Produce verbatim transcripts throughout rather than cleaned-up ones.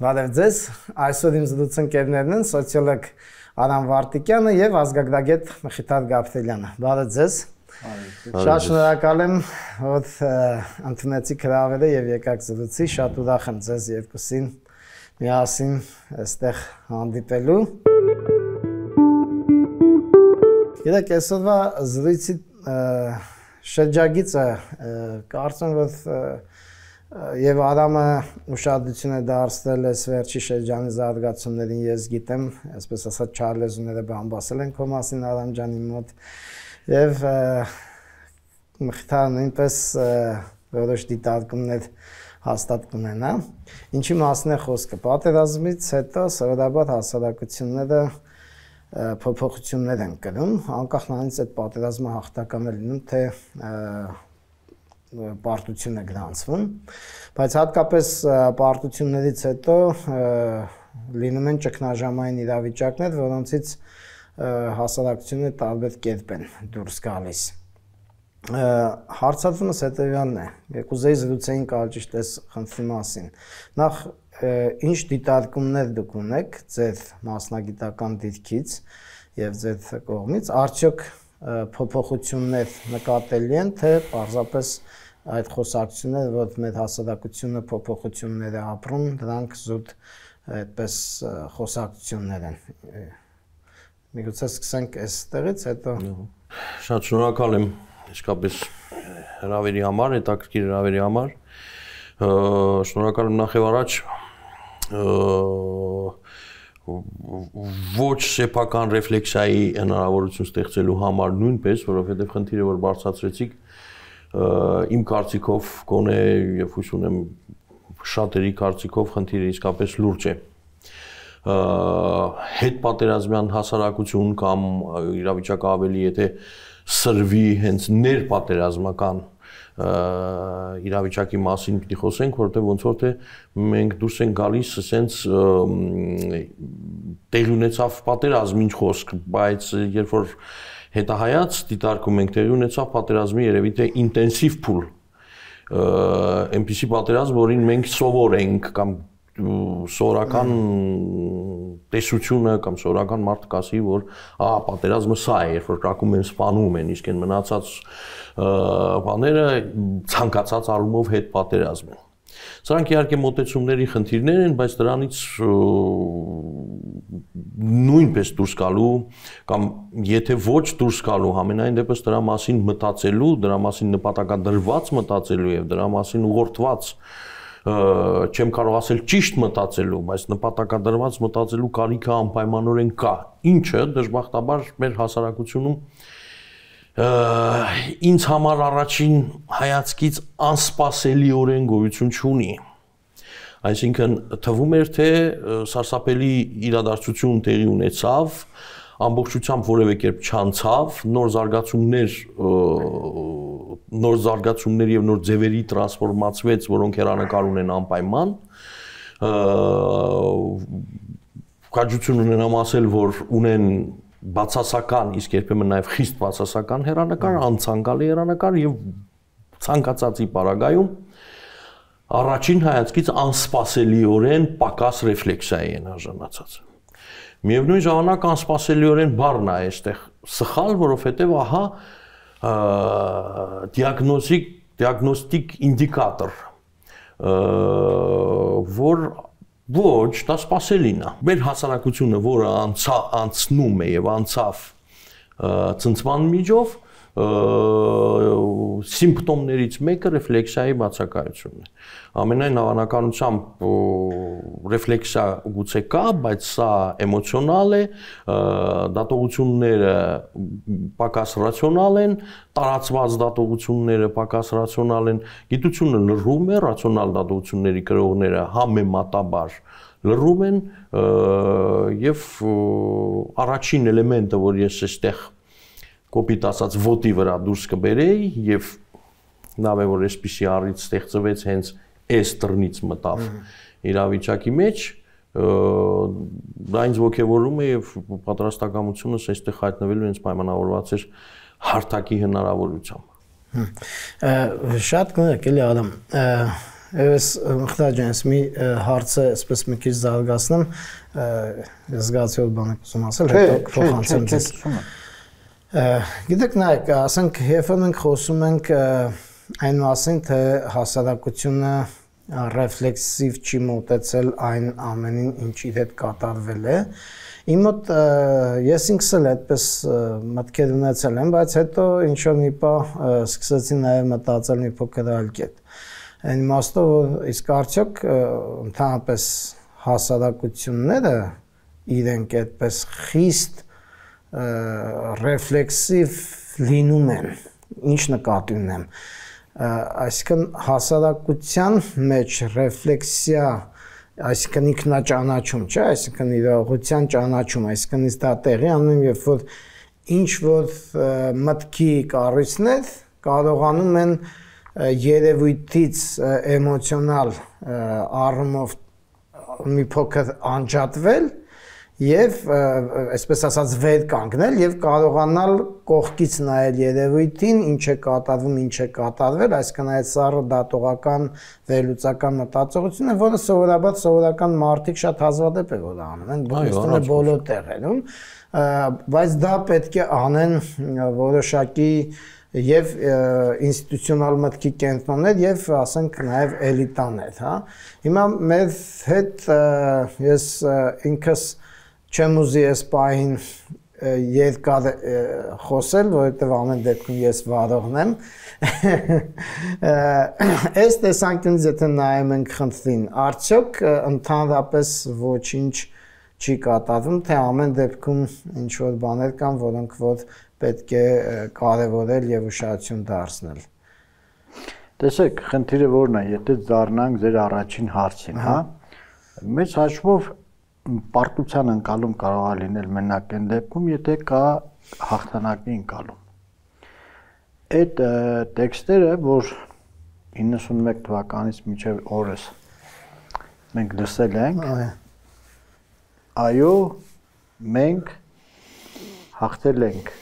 Բարև ձեզ, այսօր իմ զրուցընկերներն են սոցիոլոգ Արամ Վարդիկյանը եւ ազգագրագետ Մխիթար Գաբրելյանը։ Բարև ձեզ։ Շատ շնորհակալ եմ, որ ընդունեցիք հրավերը եւ եկաք զրուցի, շատ ուրախ եմ ձեզ երկուսին միասին այստեղ հանդիպելու։ Գիտեք, այսօրվա զրույցի շրջագիծը կարծում եմ, որ Եվ Արամը ուշադրություն է դարձրել այս վերջի շրջանի զարգացումներին, ես գիտեմ, այսպես ասած չարլեզուները բամբասել են քո մասին Արամ ջանի մոտ, եւ Մխիթարը նույնպես որոշ դիտարկումներ հաստատ կունենա։ Ինչի մասին է խոսքը։ Պատերազմից հետո սովորաբար հասարակությունները փոփոխություններ են կրում, անկախ նրանից այդ պատերազմը հաղթական է լինում, թե պարտություն է գրանցվում, բայց հատկապես պարտություններից հետո լինում են ճգնաժամային իրավիճակներ, որոնցից հասարակությունը տարբեր կերպ են դուրս գալիս։ Հարցադրումս հետևյալն է, կուզեի զրուցեին կարճ այս խնդրի մասին։ Նախ ինչ դիտարկումներ դուք ունեք ձեր մասնագիտական դիրքից եւ ձեր կողմից, արդյոք փոփոխություններ նկատելի են, թե պարզապես այդ խոսակցությունները, որ մեր հասարակությունը փոփոխություններ է ապրում, դրանք զուտ այդպես խոսակցություններ են։ Միգուցե սկսենք այստեղից, հետո Շատ շնորհակալ եմ իսկապես հրավերի համար, հետաքրքիր հրավերի համար։ Շնորհակալ եմ նախ եւ առաջ ոչ սեփական ռեֆլեքսիայի հնարավորություն ստեղծելու համար նույնպես, որովհետև խնդիրը, որ բարձրացրեցիք, իմ կարծիքով գոնե եւ հույս ունեմ շատերի կարծիքով խնդիրը իսկապես լուրջ է։ Հետ պատերազմյան հասարակություն կամ իրավիճակը ավելի եթե սրվի հենց ներպատերազմական իրավիճակի մասին պիտի խոսենք, որտեղ ոնց որ թե մենք դուրս ենք գալիս ասենց տեղի ունեցավ պատերազմ ինչ խոսք, բայց երբ որ հետահայաց դիտարկում ենք տեղի ունեցավ պատերազմի երևի թե ինտենսիվ փուլ, այնպիսի պատերազմ, որին մենք սովոր ենք կամ սովորական տեսությունը կամ սովորական մարդը կասի, որ ահա պատերազմը սա է, երբ որ կրակում են, սպանում են, իսկ այն մնացած բաները ցանկացած առումով հետ պատերազմ են։ Սրանք իհարկե մոտեցումների խնդիրներ են, բայց դրանից նույնպես դուրս գալու կամ եթե ոչ դուրս գալու, համենայն դեպս դրա մասին մտածելու, դրա մասին նպատակադրված մտածելու եւ դրա մասին ուղղորդված չեմ կարող ասել ճիշտ մտածելու, բայց նպատակադրված մտածելու կարիքը անպայմանորեն կա, ինչը դժբախտաբար մեր հասարակությունում ինձ համար առաջին հայացքից անսպասելիորեն գոյություն չունի։ Այսինքն թվում էր, թե սարսափելի իրադարձություն տեղի ունեցավ, ամբողջությամբ որևէ կերպ չանցավ, նոր զարգացումներ, նոր զարգացումներ եւ նոր ձևերի տրանսֆորմացվեց, որոնք հեռանկար ունեն անպայման։ Քաջություն ունենամ ասել, որ ունեն բացասական, իսկ երբեմն նաև խիստ բացասական հեռանկար, անցանկալի հեռանկար եւ ցանկացածի պարագայում առաջին հայացքից անսպասելիորեն պակաս ռեֆլեքսիայի են արժանացած։ Միևնույն ժամանակ անսպասելիորեն բառն է այստեղ սխալ, որովհետեւ ահա դիագնոստիկ դիագնոստիկ ինդիկատոր, որ ոչ, դա սպասելին է։ Մեր հասարակությունը, որը անցնում է եւ անցավ ցնցման միջով, սիմպտոմներից մեկը ռեֆլեքսիայի բացակայությունն է։ Ամենայն հավանականությամբ ռեֆլեքսիա գուցե կա, բայց սա էմոցիոնալ է, դատողությունները պակաս ռացիոնալ են, տարածված դատողությունները պակաս ռացիոնալ են, գիտությունը լռում է, ռացիոնալ դատողությունների կրողները համեմատաբար լռում են եւ առաջին էլեմենտը, որ ես այստեղ կոպիտ ասած ոտի վրա դուրս կբերեի եւ լավ է որ այսպիսի առիթ ստեղծվեց հենց այս տրնից մտավ իրավիճակի մեջ դա ինձ ոգևորում է եւ պատրաստակամությունս այստեղ հայտնվելու հենց պայմանավորված էր հարթակի հնարավորությամբ Շատ կներեք էլի Արամ Ես Մխտաջան, ես մի հարցը այսպես մի քիչ զարգացնեմ, զգացի որ բան եք ուզում ասել, հետո փոխանցեմ ձեզ։ Գիտեք, նայեք, ասենք, երբ մենք խոսում ենք այն մասին, թե հասարակությունը ռեֆլեքսիվ չի մոտեցել այն ամենին, ինչ իր հետ կատարվել է։ Իմ մոտ ես ինքս էլ այդպես մտքեր ունեցել եմ, բայց հետո ինչ-որ մի բան սկսեցի նաև մտածել մի փոքր այլ կերպ։ Այն իմաստով, որ իսկ արդյոք ընդհանրապես հասարակությունները իրենք այդպես խիստ ռեֆլեքսիվ լինում են, ինչ նկատի ունեմ։ Այսինքն հասարակության մեջ ռեֆլեքսիա, այսինքն ինքնաճանաչում, չէ, այսինքն իրողության ճանաչում, այսինքն իսկ դա տեղի անում, երբ որ ինչ որ մտքի կառույցներ կարողանում են երևույթից էմոցիոնալ առումով մի փոքր անջատվել եւ այսպես ասած վեր կանգնել եւ կարողանալ կողքից նայել երևույթին, ինչ է կատարվում, ինչ է կատարվել, այսինքն այդ սառը դատողական վերլուծական մտածողությունը, որը սովորաբար սովորական մարդիկ շատ հազվադեպ է որ անում են, բնականաբար բոլոր տեղերում, բայց դա պետք է անեն որոշակի եւ ինստիտուցիոնալ մտքի կենտրոններ եւ ասենք նաեւ էլիտաներ, հա։ Հիմա մեր հետ ես ինքս չեմ ուզի այս պահին երկար խոսել, որովհետև ամեն դեպքում ես վարողն եմ։ Այս տեսանկյունից եթե նայում ենք խնդրին, արդյոք ընդհանրապես ոչինչ չի կատարվում, թե ամեն դեպքում ինչ որ բաներ կան, որոնք որ պետք է կարևորել եւ ուշադրություն դարձնել։ Տեսեք, խնդիրը որն է, եթե դառնանք ձեր առաջին հարցին, հա։ Մեծ հաշվով պարտության ընկալում կարող է լինել մենակ այն դեպքում, եթե կա հաղթանակի ընկալում։ Այդ տեքստերը, որ իննսունմեկ թվականից մինչև օրս մենք լսել ենք, այո, մենք հաղթել ենք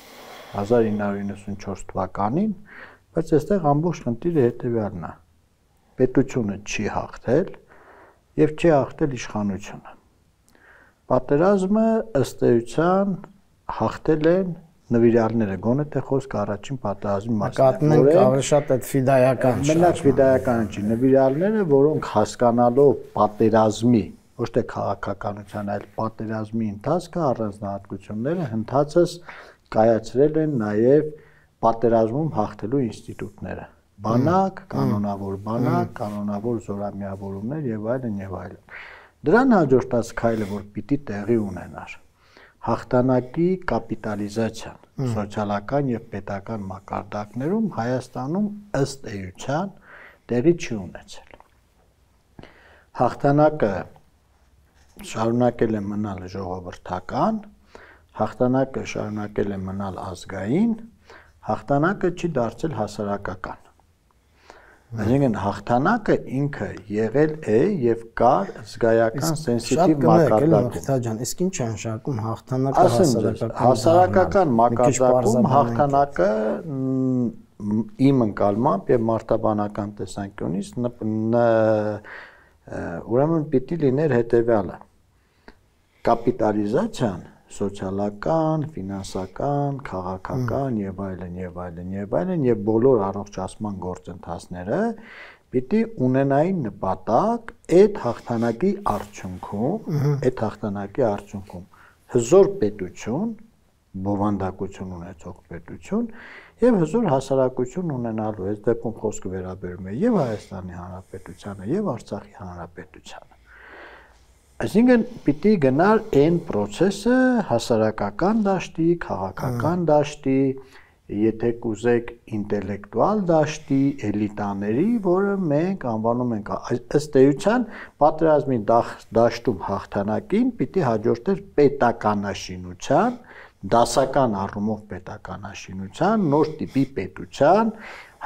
հազար ինը հարյուր իննսունչորս թվականին, բայց այստեղ ամբողջ խնդիրը հետևյալն է։ Պետությունը չի հաղթել եւ չի հաղթել իշխանությունը։ Պատերազմը ըստ էության հաղթել են նվիրյալները, գոնե թե խոսքը առաջին պատերազմի մասին է։ Նկատում ենք ավելի շատ այդ ֆիդայական շարժ։ Մենակ ֆիդայականը չի, նվիրյալները, որոնք հասկանալով պատերազմի, ոչ թե քաղաքականության, այլ պատերազմի ընթացքը, առանձնահատկությունները, ընթացս կայացրել են նաև պատերազմում հաղթելու ինստիտուտները։ Բանակ, կանոնավոր բանակ, կանոնավոր զորամիավորումներ եւ այլն եւ այլն։ Դրան հաջորդած քայլը, որ պիտի տեղի ունենար, հաղթանակի կապիտալիզացիան սոցիալական եւ պետական մակարդակներում Հայաստանում ըստ էության տեղի չի ունեցել։ Հաղթանակը շարունակել է մնալ ժողովրդական, հաղթանակը շարունակել է մնալ ազգային, հաղթանակը չի դարձել հասարակական։ Այսինքն հաղթանակը ինքը եղել է եւ կար զգայական սենսիտիվ մակարդակում։ Իսկ ինչ է նշանակում հաղթանակը հասարակական։ Հասարակական մակարդակում հաղթանակը իմ ընկալմամբ եւ մարտաբանական տեսանկյունից ուրեմն պիտի լիներ հետեւյալը։ Կապիտալիզացիան սոցիալական, ֆինանսական, քաղաքական եւ այլն եւ այլն եւ այլն եւ բոլոր առողջացման գործընթացները պիտի ունենային նպատակ այդ հաղթանակի արդյունքում, այդ հաղթանակի արդյունքում հզոր պետություն, բովանդակություն ունեցող պետություն եւ հզոր հասարակություն ունենալու։ Այս դեպքում խոսքը վերաբերում է եւ Հայաստանի Հանրապետությանը եւ Արցախի Հանրապետությանը։ Այսինքն պիտի գնար այն process-ը հասարակական դաշտի, քաղաքական դաշտի, եթե կուզեք ինտելեկտուալ դաշտի, էլիտաների, որը մենք անվանում ենք ըստ էության պատերազմի դաշտում հաղթանակին պիտի հաջորդեր պետականաշինության, դասական առումով պետականաշինության, նոր տիպի պետության,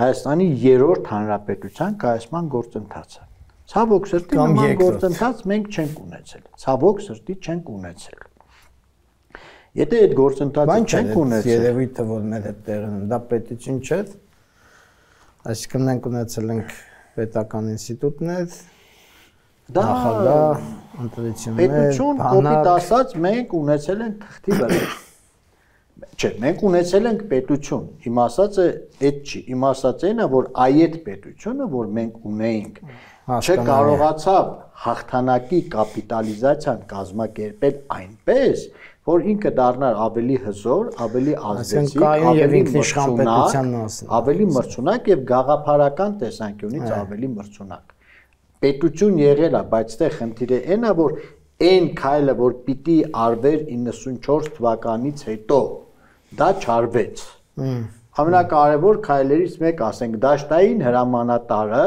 Հայաստանի երրորդ հանրապետության կայացման գործընթացը։ Ցավոք սրտի նման գործընթաց մենք չենք ունեցել։ Ցավոք սրտի չենք ունեցել։ Եթե այդ գործընթացը չենք ունեցել, երևույթը որ մեր հետ տեղն է, դա պետություն չէ։ Այսինքն մենք ունեցել ենք պետական ինստիտուտներ, դա ընտրություններ, պետություն, կոպիտ ասած, մենք ունեցել ենք թղթի վրա։ Չէ, մենք ունեցել ենք պետություն։ Իմ ասածը այդ չի։ Իմ ասածը այն է, որ այդ պետությունը, որ մենք ունեինք, չկարողացավ հաղթանակի կապիտալիզացիան կազմակերպել այնպես, որ ինքը դառնար ավելի հզոր, ավելի ազդեցիկ, ավելի մրցունակ, ավելի մրցունակ եւ գաղափարական տեսանկյունից ավելի մրցունակ։ Պետություն եղել է, բայց այդտեղ խնդիրը այն է, որ այն քայլը, որ պիտի արվեր իննսունչորս թվականից հետո, դա չարվեց։ Ամենակարևոր քայլերից մեկ, ասենք, դաշտային հրամանատարը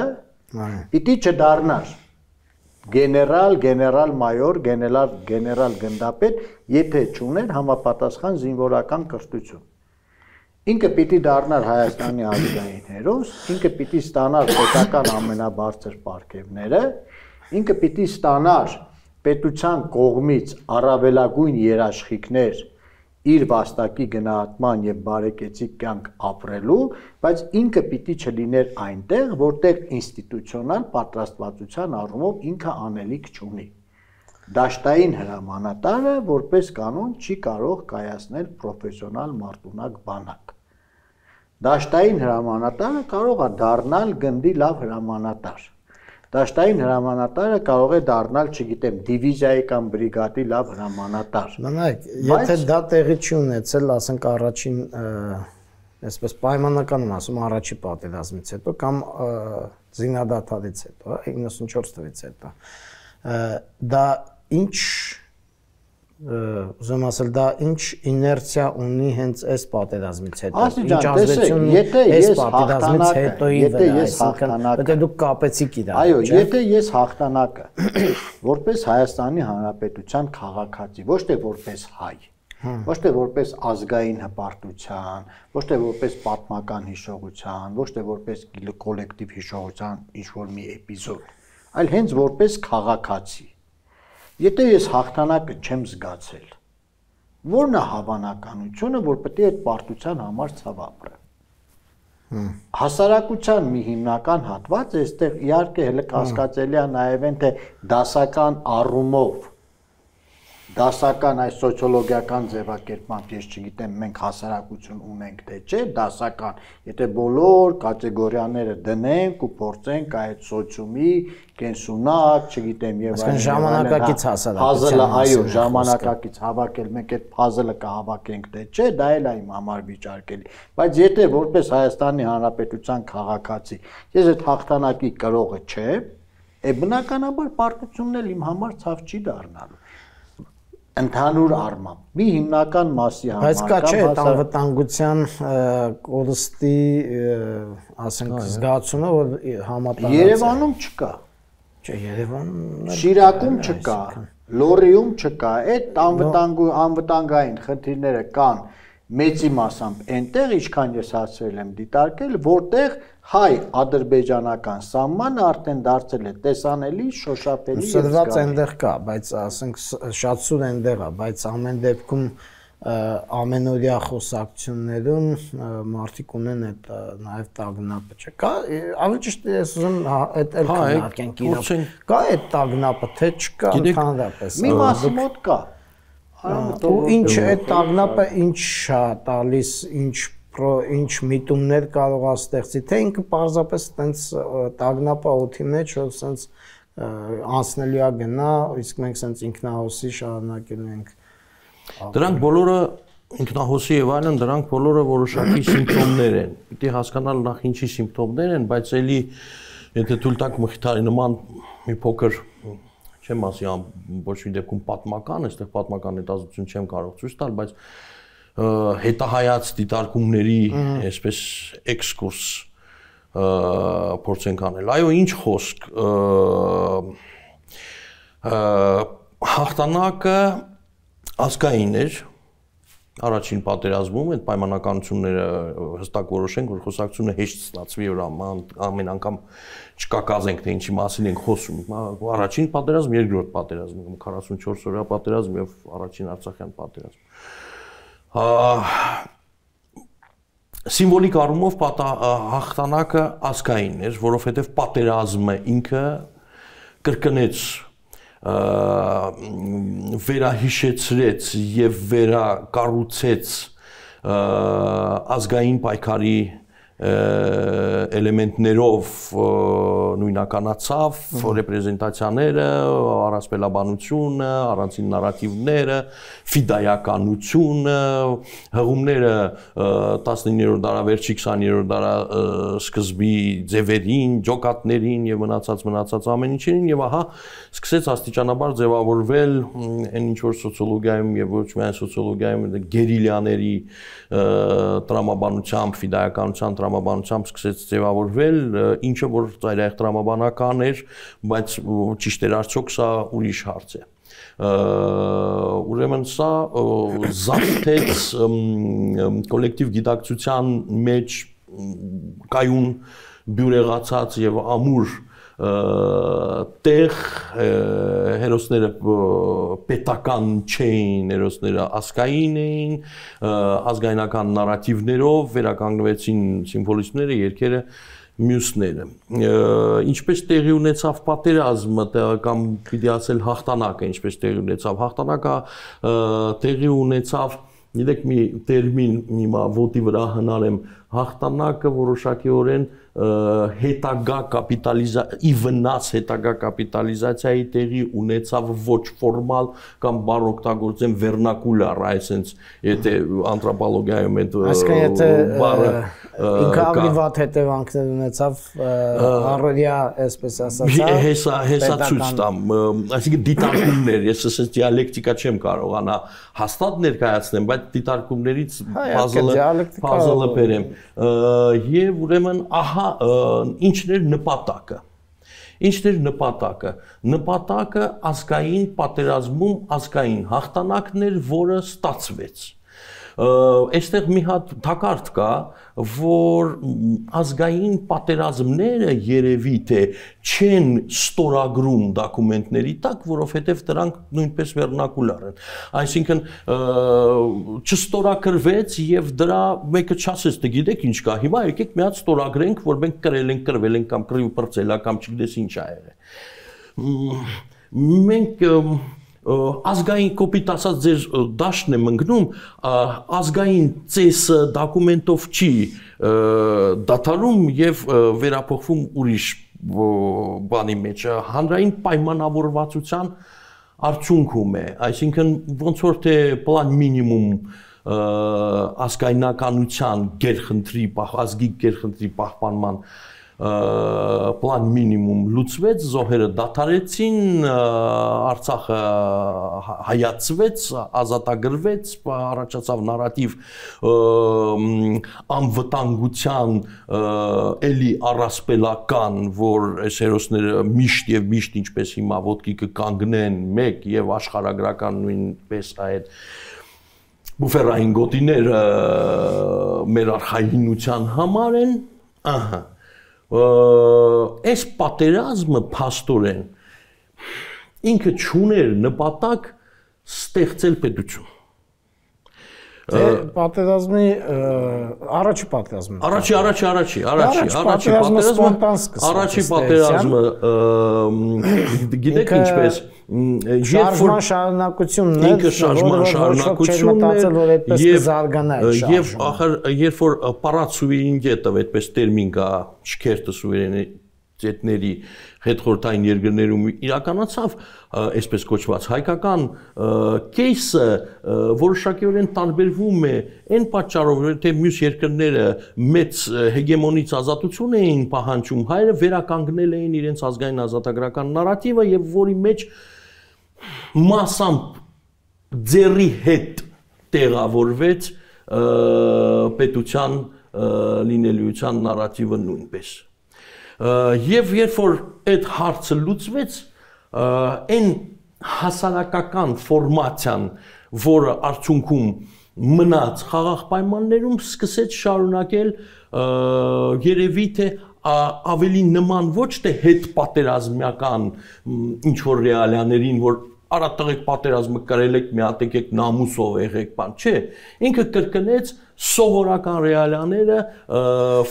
պիտի չդառնար գեներալ, գեներալ մայոր, գեներալ, գեներալ գնդապետ, եթե չուներ համապատասխան զինվորական կրթություն։ Ինքը պիտի դառնար Հայաստանի ազգային հերոս, ինքը պիտի ստանար պետական ամենաբարձր պարգևները, ինքը պիտի ստանար պետության կողմից առավելագույն երաշխիքներ իր վաստակի գնահատման եւ բարեկեցիկ կյանք ապրելու, բայց ինքը պիտի չլիներ այնտեղ, որտեղ ինստիտուցիոնալ պատրաստվածության առումով ինքը անելիք չունի։ Դաշտային հրամանատարը որպես կանոն չի կարող կայացնել պրոֆեսիոնալ մարտունակ բանակ։ Դաշտային հրամանատարը կարող է դառնալ գնդի լավ հրամանատար։ Դաշտային հրամանատարը կարող է դառնալ, չգիտեմ, դիվիզիայի կամ բրիգադի լավ հրամանատար։ Նայեք, եթե դա տեղի չի ունեցել, ասենք առաջին, այսպես պայմանական եմ ասում, առաջի պատերազմից հետո կամ զինադադարից հետո, իննսունչորս թվականից հետո, դա ինչ, ուզում ասել, դա ինչ իներցիա ունի հենց այս պատերազմից հետո, ինչ ազդեցություն ունի այս պատերազմից հետոյի վրա, այսինքն, եթե դուք կապեցիք իրար։ Այո, եթե ես հաղթանակը որպես Հայաստանի Հանրապետության քաղաքացի, ոչ թե որպես հայ, ոչ թե որպես ազգային հպարտության, ոչ թե որպես պատմական հիշողության, ոչ թե որպես կոլեկտիվ հիշողության ինչ-որ մի էպիզոդ, այլ հենց որպես քաղաքացի։ Եթե ես հաղթանակը չեմ զգացել, ո՞րն է հավանականությունը, որ պետք է այդ պարտության համար ցավ ապրեմ։ Հասարակության մի հիմնական հատված է, այստեղ իհարկե հենց կասկածելի է նաև այն, թե դասական առումով, դասական այս սոցիոլոգիական ձևակերպմամբ, ես չգիտեմ, մենք հասարակություն ունենք թե չէ, դասական, եթե բոլոր կատեգորիաները դնենք ու փորձենք այդ սոցիումի կենսունակ, չգիտեմ, եւ այլն ժամանակակից հասարակության, այո, ժամանակակից հավաքել, մենք այդ puzzle-ը կհավաքենք թե չէ, դա էլ է իմ համար վիճարկելի, բայց եթե որպես Հայաստանի Հանրապետության քաղաքացի ես այդ հաղթանակի կրողը չեմ, է բնականաբար պարտությունն էլ իմ համար ցավ չի դառնալու։ Ընդհանուր առմամբ մի հիմնական մասի համար բայց կա չէ անվտանգության կորստի, ասենք, զգացումը, որ համատարած է։ Երևանում չկա։ Չէ, Երևանում Շիրակում չկա, Լոռիում չկա, այդ անվտանգային խնդիրները կան մեծի մասամբ այնտեղ, ինչքան ես հասցրել եմ դիտարկել, որտեղ հայ-ադրբեջանական սահմանը արդեն դարձել է տեսանելի, շոշափելի եւ զգալի։ Սրված այնտեղ կա, բայց ասենք շատ սուր այնտեղ է, բայց ամեն դեպքում ամենօրյա խոսակցություններում մարդիկ ունեն այդ նաև տագնապը, չէ՞։ Կա, ավելի ճիշտ ես ուզում այդ էլ քննարկենք իրավ։ Կա այդ տագնապը, թե չկա ընդհանրապես։ Մի մասի մոտ կա։ Ու ինչ այդ տագնապը ինչ է տալիս, ինչ ինչ միտումներ կարող է ստեղծի, թե ինքը պարզապես տենց տագնապը օդի մեջ, որ սենց անցնելի է գնա, իսկ մենք սենց ինքնահոսի շարունակելու ենք։ Դրանք բոլորը ինքնահոսի եւ այլն, դրանք բոլորը որոշակի սիմպտոմներ են։ Պիտի հասկանալ նախ ինչի սիմպտոմներ են, բայց էլի եթե թույլ տաք Մխիթարի նման մի փոքր չեմ ասի ոչ մի դեպքում պատմական, այստեղ պատմական հետազոտություն չեմ կարող ցույց տալ, բայց հետահայաց դիտարկումների այսպես էքսկուրս փորձենք անել։ Այո, ինչ խոսք, հաղթանակը ազգային էր առաջին պատերազմում, այդ պայմանականությունները հստակ որոշենք, որ խոսակցությունը հեշտ ստացվի, որ ամեն անգամ չկակազենք, թե ինչի մասին ենք խոսում։ Առաջին պատերազմ, երկրորդ պատերազմ, քառասունչորս օրյա պատերազմ եւ առաջին Արցախյան պատերազմ։ Սիմվոլիկ առումով հաղթանակը ազգային էր, որովհետև պատերազմը ինքը կրկնեց, վերահիշեցրեց եւ վերակառուցեց ազգային պայքարի էլեմենտներով նույնականացավ ռեպրեզենտացիաները, առասպելաբանությունը, առանցին նարատիվները, ֆիդայականությունը, հղումները տասնիններորդ դարավերջի քսաներորդ դարասկզբի ձևերին, ջոկատներին եւ մնացած մնացած ամեն ինչին եւ ահա սկսեց աստիճանաբար ձևավորվել այն ինչ որ սոցիոլոգիայում եւ ոչ միայն սոցիոլոգիայում գերիլյաների տրամաբանությամբ, ֆիդայականության տրամաբանությամբ սկսեց ձևավորվել, ինչը որ ծայրահեղ տրամաբանական էր, բայց ճիշտ էր արդյոք սա ուրիշ հարց է։ Ուրեմն սա զարթեց կոլեկտիվ գիտակցության մեջ կայուն բյուրեղացած եւ ամուր տեղ հերոսները պետական չէին, հերոսները ազգային էին, ազգայնական նարատիվներով վերականգնվեցին սիմվոլիզմները, երգերը, մյուսները։ Ինչպես տեղի ունեցավ պատերազմը կամ պիտի ասել հաղթանակը, ինչպես տեղի ունեցավ հաղթանակը, տեղի ունեցավ, գիտեք մի տերմին հիմա ոտի վրա հնարեմ, հաղթանակը որոշակիորեն հետագա կապիտալիզացիա, ի վնաս հետագա կապիտալիզացիայի տեղի ունեցավ ոչ ֆորմալ կամ բառ օգտագործեմ վերնակուլար, այսինքն եթե անթրոպոլոգիայում այդ բառը ինքը ավելի վատ հետևանքներ ունեցավ առօրյա, այսպես ասած, հեսա հեսա ցույց տամ, այսինքն դիտարկումներ, ես ասես դիալեկտիկա չեմ կարողանա հաստատ ներկայացնեմ, բայց դիտարկումներից puzzle-ը puzzle-ը բերեմ եւ ուրեմն ահա ինչն էր նպատակը ինչն էր նպատակը նպատակը ազգային պատերազմում ազգային հաղթանակն էր, որը ստացվեց այստեղ մի հատ թակարդ կա, որ ազգային պատերազմները երևի թե չեն ստորագրում դոկումենտների տակ, որովհետև դրանք նույնպես վերնակուլար են։ Այսինքն չստորագրվեց եւ դրա մեկը չասեց, դե գիտեք ինչ կա, հիմա եկեք մի հատ ստորագրենք, որ մենք կրել ենք, կրվել ենք կամ կռիվ բրծել կամ չգիտես ինչ ա եղել։ Մենք ազգային կոպիտ ասած ձեր դաշտն եմ ընկնում, ազգային ծեսը դոկումենտով չի դադարում եւ վերափոխվում ուրիշ բանի մեջ, հանրային պայմանավորվածության արդյունքում է, այսինքն ոնց որ թե պլան մինիմում ազգայնականության գերխնդրի, ազգի գերխնդրի պահպանման պլան մինիմում լուծվեց, զոհերը դադարեցին, Արցախը հայացվեց, ազատագրվեց, առաջացավ նարատիվ անվտանգության էլի առասպելական, որ այս հերոսները միշտ եւ միշտ ինչպես հիմա ոտքի կկանգնեն մեկ եւ աշխարհագրական նույնպես այդ բուֆերային գոտիները մեր արխայինության համար են, ահա այս պատերազմը փաստորեն ինքը չուներ նպատակ ստեղծել պետություն։ Պատերազմի առաջի պատերազմը։ Առաջի, առաջի, առաջի, առաջի, առաջի պատերազմը, առաջի պատերազմը, գիտեք ինչպես, շարժման շարունակությունն է, ինքը շարժման շարունակությունն է եւ ախր երբ որ պարացուվերենիտետը այդպես տերմին կա շքերտը սուվերենիտետների հետխորհրդային երկրներում իրականացավ այսպես կոչված հայկական кейսը որոշակիորեն տարբերվում է այն պատճառով թե մյուս երկրները մեծ հեգեմոնից ազատություն էին պահանջում, հայերը վերականգնել էին իրենց ազգային ազատագրական նարատիվը եւ որի մեջ մասամբ ձեռի հետ տեղավորվեց պետության լինելիության նարատիվը նույնպես եւ երբ որ այդ հարցը լուծվեց այն հասարակական ֆորմացիան որը արդյունքում մնաց խաղաղ պայմաններում սկսեց շարունակել երևի թե ավելի նման ոչ թե հետ պատերազմական ինչ որ ռեալիաներին որ Արա տղեկ պատերազմը կրել եք, մի հատ եկեք նամուսով եղեք, բան, չէ։ Ինքը կրկնեց սովորական ռեալիաները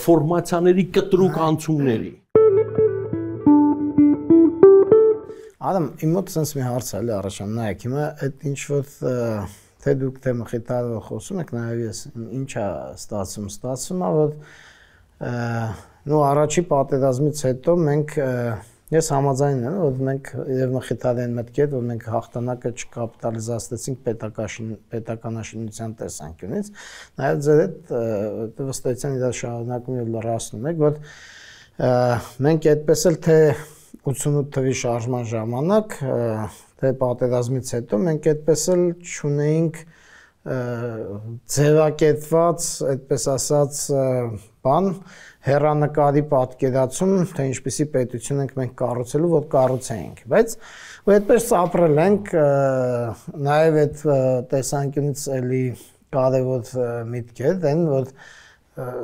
ֆորմացիաների կտրուկ անցումների։ Ադամ, իմ մոտ sense մի հարց է առաջան, նայեք, հիմա այդ ինչ որ թե դուք թե Մխիթարով խոսում եք, նաև ես ինչ է ստացվում, ստացվում է, որ նո առաջի պատերազմից հետո մենք ես համաձայն եմ, որ մենք եւ Մխիթարյան մտքի հետ, որ մենք հաղթանակը չկապիտալիզացնեցինք պետականաշինության տեսանկյունից, նաև ձեր այդ վստահության իր շարունակում եւ լրացնում եք, որ մենք այդպես էլ թե ութսունութ թվականի շարժման ժամանակ, թե պատերազմից հետո մենք այդպես էլ չունեինք ձևակերպված, այդպես ասած, բան, հեռանկարի պատկերացում, թե ինչպիսի պետություն ենք մենք կառուցելու, որ կառուցեինք, բայց ու այդպես ապրել ենք, նաև այդ տեսանկյունից էլի կարևոր միտք է, դեն որ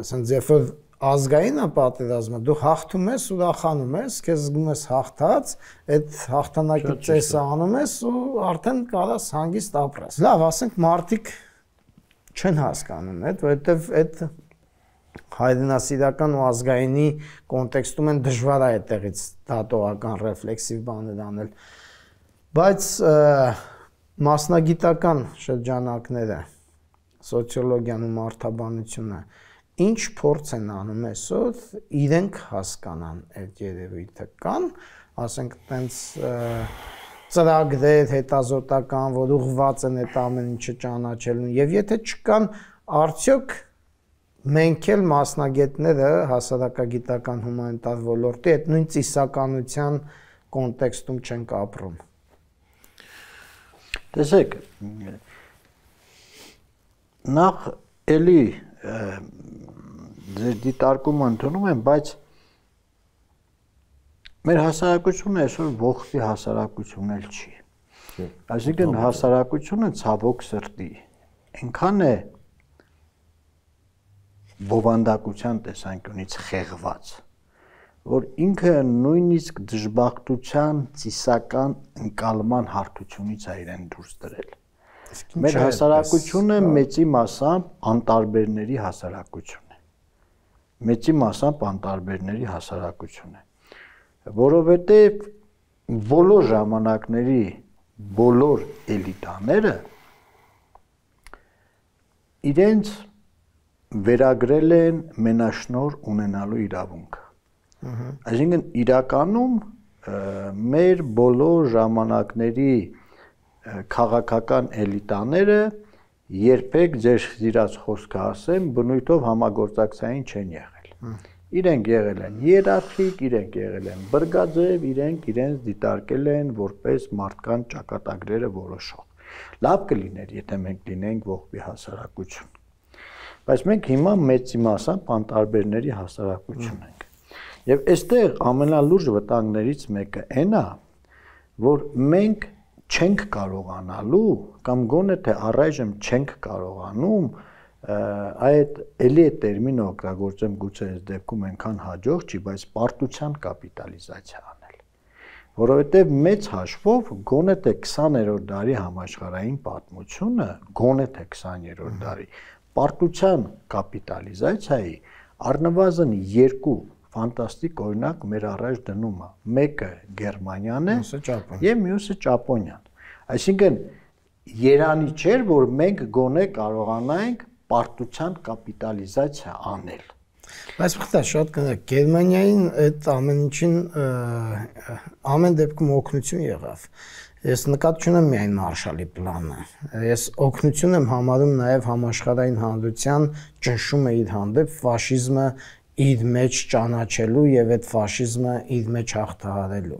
ասենց երբ որ ազգային պատերազմը դու հաղթում ես, ուրախանում ես, քեզ զգում ես հաղթած, այդ հաղթանակի ծեսը անում ես ու արդեն կարաս հանգիստ ապրես։ Լավ, ասենք մարդիկ չեն հասկանում այդ, որովհետև այդ հայրենասիրական ու ազգայինի կոնտեքստում են դժվար է այդտեղից դատողական ռեֆլեքսիվ բաներ անել։ Բայց մասնագիտական շրջանակները, սոցիոլոգիան ու մարդաբանությունը ինչ փորձ են անում այսօր իրենք հասկանան այդ երևույթը կան, ասենք տենց ծրագրեր հետազոտական, որ ուղղված են այդ ամեն ինչը ճանաչելուն, եւ եթե չկան, արդյոք մենք էլ մասնագետները հասարակագիտական հումանիտար ոլորտի այդ նույն ծիսականության կոնտեքստում չենք ապրում։ Տեսեք, նախ էլի ձեր դիտարկումը ընդունում եմ, բայց մեր հասարակությունը այսօր ողբի հասարակություն էլ չի։ Այսինքն հասարակությունը ցավոք սրտի այնքան է բովանդակության տեսանկյունից խեղված, որ ինքը նույնիսկ դժբախտության ծիսական ընկալման հարթությունից է իրեն դուրս դրել։ Մեր հասարակությունը մեծի մասամբ անտարբերների հասարակություն է։ Մեծի մասամբ անտարբերների հասարակություն է, որովհետև բոլոր ժամանակների բոլոր էլիտաները իրենց վերագրել են մենաշնոր ունենալու իրավունքը։ Այսինքն իրականում մեր բոլոր ժամանակների քաղաքական էլիտաները երբեք ձեր սիրած խոսքը ասեմ, բնույթով համագործակցային չեն եղել։ Իրենք եղել են հիերարխիկ, իրենք եղել են բրգաձև, իրենք իրենց դիտարկել են որպես մարդկան ճակատագրերը որոշող։ Լավ կլիներ, եթե մենք լինենք ողբի հասարակություն։ Բայց մենք հիմա մեծի մասամբ անտարբերների հասարակություն ենք։ Եվ այստեղ ամենալուրջ վտանգներից մեկը այն է, որ մենք չենք կարողանալու կամ գոնե թե առայժմ չենք կարողանում այդ էլի է տերմինը օգտագործեմ գուցե այս դեպքում այնքան հաջող չի, բայց պարտության կապիտալիզացիա անել, որովհետև մեծ հաշվով գոնե թե քսաներորդ դարի համաշխարհային պատմությունը, գոնե թե քսաներորդ դարի պարտության կապիտալիզացիայի առնվազն երկու ֆանտաստիկ օրինակ մեր առաջ դնում է, մեկը Գերմանիան է եւ մյուսը Ճապոնիան։ Այսինքն երանի չէր, որ մենք գոնե կարողանայինք պարտության կապիտալիզացիա անել։ Բայց բխտա շատ կնեք, Գերմանիային այդ ամեն ինչին ամեն դեպքում օգնություն եղավ։ Ես նկատի չունեմ միայն Մարշալի պլանը։ Ես օգնություն եմ համարում նաև համաշխարհային հանրության ճնշումը իր հանդեպ ֆաշիզմը իր մեջ ճանաչելու եւ այդ ֆաշիզմը իր մեջ հաղթահարելու։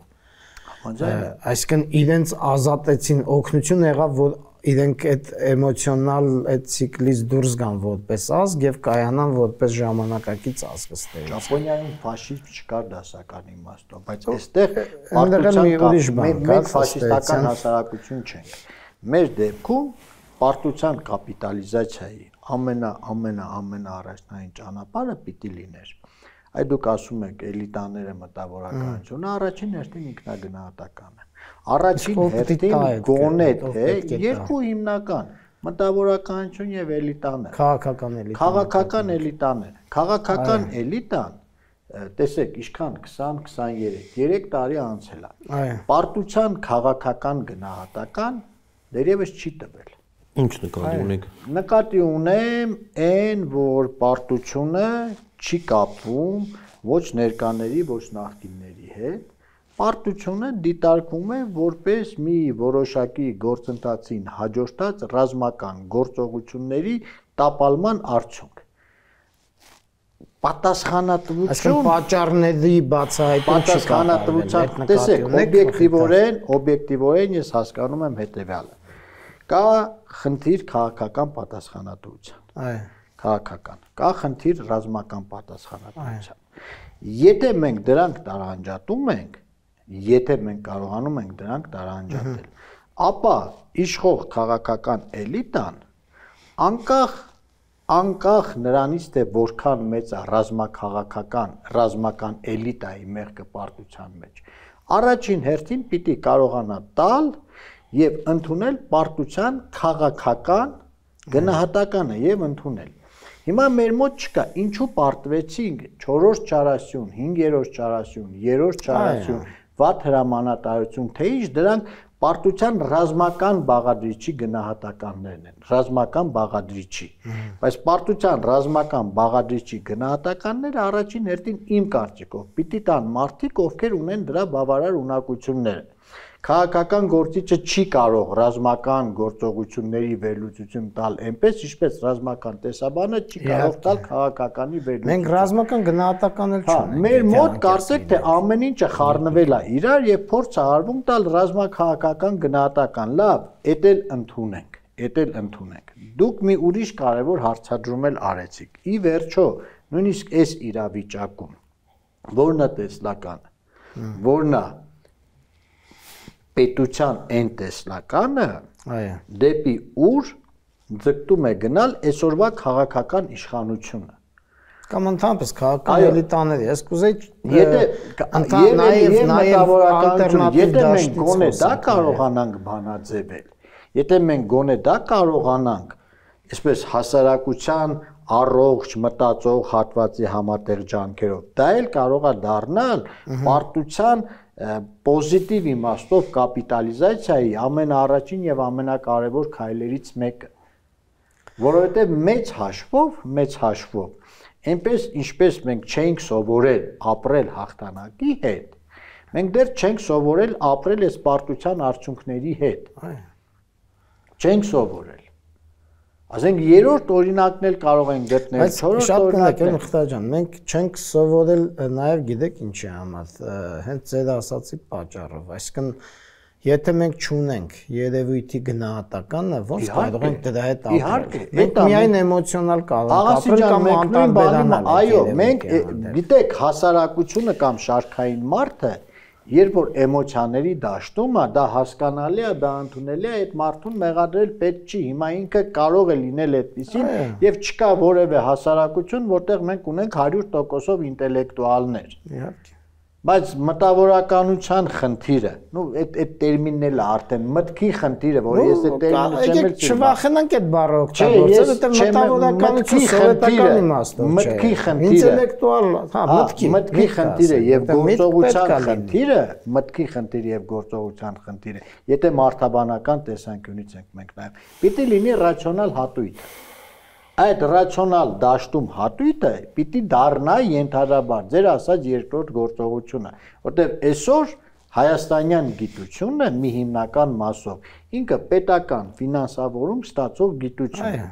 Այսինքն իրենց ազատեցին, օգնություն եղավ, որ իրենք այդ էմոցիոնալ այդ ցիկլից դուրս գան որպես ազգ եւ կայանան որպես ժամանակակից ազգ ըստեղ։ Ճապոնիայում ֆաշիզմ չկար դասական իմաստով, բայց այստեղ պարտության մենք ֆաշիստական հասարակություն չենք։ Մեր դեպքում պարտության կապիտալիզացիայի ամենա ամենա ամենա առաջնային ճանապարհը պիտի լիներ Այդ դուք ասում եք էլիտաները մտավորականությունը, առաջին հերթին ինքնագնահատական է։ Առաջին հերթին գոնե թե երկու հիմնական մտավորականություն եւ էլիտաներ։ Քաղաքական էլիտան։ Քաղաքական էլիտաներ։ Քաղաքական էլիտան, տեսեք, ինչքան քսան քսաներեք երեք տարի անցել է։ Պարտության քաղաքական գնահատական դերևս չի տվել։ Ինչ նկատի ունեք։ Նկատի ունեմ այն, որ պարտությունը չի կապվում ոչ ներկաների, ոչ նախկինների հետ։ Պարտությունը դիտարկվում է որպես մի որոշակի գործընթացին հաջորդած ռազմական գործողությունների տապալման արդյունք։ Պատասխանատվություն, այսինքն պատճառների բացահայտում չի պատասխանատվության, տեսեք, օբյեկտիվորեն, օբյեկտիվորեն ես հասկանում եմ հետևյալը։ Կա խնդիր քաղաքական պատասխանատվության։ Այո։ Քաղաքական։ Կա խնդիր ռազմական պատասխանատվության։ Եթե մենք դրանք տարանջատում ենք, եթե մենք կարողանում ենք դրանք տարանջատել, ապա իշխող քաղաքական էլիտան անկախ անկախ նրանից թե որքան մեծ է ռազմաքաղաքական ռազմական էլիտայի մեղքը պարտության մեջ, առաջին հերթին պիտի կարողանա տալ եւ ընդունել պարտության քաղաքական գնահատականը եւ ընդունել։ Հիմա մեր մոտ չկա, ինչու պարտվեցինք չորրորդ չարասյուն, հինգերորդ չարասյուն, երրորդ չարասյուն, վատ հրամանատարություն, թե ինչ դրանք պարտության ռազմական բաղադրիչի գնահատականներն են, ռազմական բաղադրիչի։ Բայց պարտության ռազմական բաղադրիչի գնահատականները առաջին հերթին իմ կարծիքով պիտի տան մարդիկ, ովքեր ունեն դրա բավարար ունակությունները։ Քաղաքական գործիչը չի կարող ռազմական գործողությունների վերլուծություն տալ այնպես, ինչպես ռազմական տեսաբանը չի կարող տալ քաղաքականի վերլուծություն։ Մենք ռազմական գնահատական էլ չունենք։ Մեր մոտ կարծեք թե ամեն ինչը խառնվել է իրար եւ փորձ է արվում տալ ռազմաքաղաքական գնահատական։ Լավ, էդ էլ ընդունենք, էդ էլ ընդունենք։ Դուք մի ուրիշ կարևոր հարցադրում էլ արեցիք։ Ի վերջո, նույնիսկ այս իրավիճակում որն է տեսլականը, որն է պետության այն տեսլականը, այո, դեպի ուր ձգտում է գնալ այսօրվա քաղաքական իշխանությունը։ Կամ ընդհանրապես քաղաքական էլիտաների, ես կուզեի եւ նաեւ եթե մենք գոնե դա կարողանանք բանաձևել, եթե մենք գոնե դա կարողանանք, այսպես հասարակության առողջ մտածող հատվածի համատեղ ջանքերով, դա էլ կարող է դառնալ պարտության պոզիտիվ իմաստով կապիտալիզացիայի ամենաառաջին եւ ամենակարևոր քայլերից մեկը, որովհետեւ մեծ հաշվով, մեծ հաշվով, այնպես ինչպես մենք չենք սովորել ապրել հաղթանակի հետ, մենք դեռ չենք սովորել ապրել այս պարտության արդյունքների հետ։ Չենք սովորել։ Ասենք երրորդ օրինակն էլ կարող են գտնել, չորրորդ օրինակն Մխիթար ջան, մենք չենք սովորել նաև գիտեք ինչի համար, հենց ձեր ասացի պատճառով, այսինքն եթե մենք չունենք երևույթի գնահատականը, ոնց կարող ենք դրա հետ ապրել։ Մենք միայն էմոցիոնալ կարող ենք ապրել կամ անտարբերանալ։ Այո, մենք գիտեք հասարակությունը կամ շարքային մարդը, երբ որ էմոցիաների դաշտում է, դա հասկանալի է, դա ընդունելի է, այդ մարդուն մեղադրել պետք չի։ Հիմա ինքը կարող է լինել այդպեսին եւ չկա որևէ հասարակություն, որտեղ մենք ունենք հարյուր տոկոսով ինտելեկտուալներ։ Իհարկե։ Բայց մտավորականության խնդիրը, նո այդ այդ տերմինն էլ է արդեն մտքի խնդիրը, որ ես այդ տերմինը չեմ էլ չվախենանք այդ բառը օգտագործել, որտեղ մտավորականությունը սովետական իմաստով չէ։ Մտքի խնդիրը, ինտելեկտուալ, հա, մտքի, մտքի խնդիրը եւ գործողության խնդիրը, մտքի խնդիրը եւ գործողության խնդիրը, եթե մարդաբանական տեսանկյունից ենք մենք նայում, պիտի լինի ռացիոնալ հատույթ։ Այդ ռացիոնալ դաշտում հատույթը պիտի դառնա ենթադրաբար ձեր ասած երկրորդ գործողությունը, որտեղ այսօր հայաստանյան գիտությունը մի հիմնական մասով ինքը պետական ֆինանսավորում ստացող գիտություն է։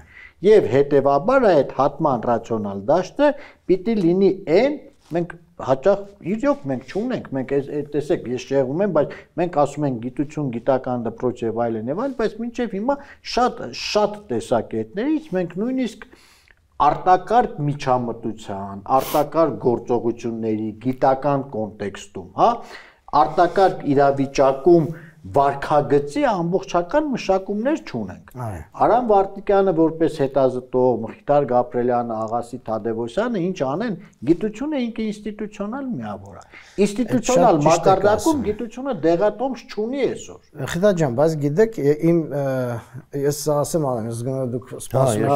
Եվ հետևաբար այդ հատման ռացիոնալ դաշտը պիտի լինի այն, մենք հաճախ իրոք մենք չունենք, մենք տեսեք, ես շեղում եմ, բայց մենք ասում ենք գիտություն, գիտական դպրոց եւ այլն եւ այլն, բայց մինչեւ հիմա շատ շատ տեսակետներից մենք նույնիսկ արտակարգ միջամտության, արտակարգ գործողությունների գիտական կոնտեքստում, հա, արտակարգ իրավիճակում վարքագծի ամբողջական մշակումներ չունենք։ Այո։ Արամ Վարդիկյանը որպես հետազոտող, Մխիթար Գաբրելյանը, Աղասի Թադևոսյանը ինչ անեն, գիտությունը ինքը ինստիտուցիոնալ միավոր է։ Ինստիտուցիոնալ մակարդակում գիտությունը դեղատոմս չունի այսօր։ Խիթա ջան, բայց գիտեք, իմ ես ասեմ արեմ, ես գնա դուք սպասում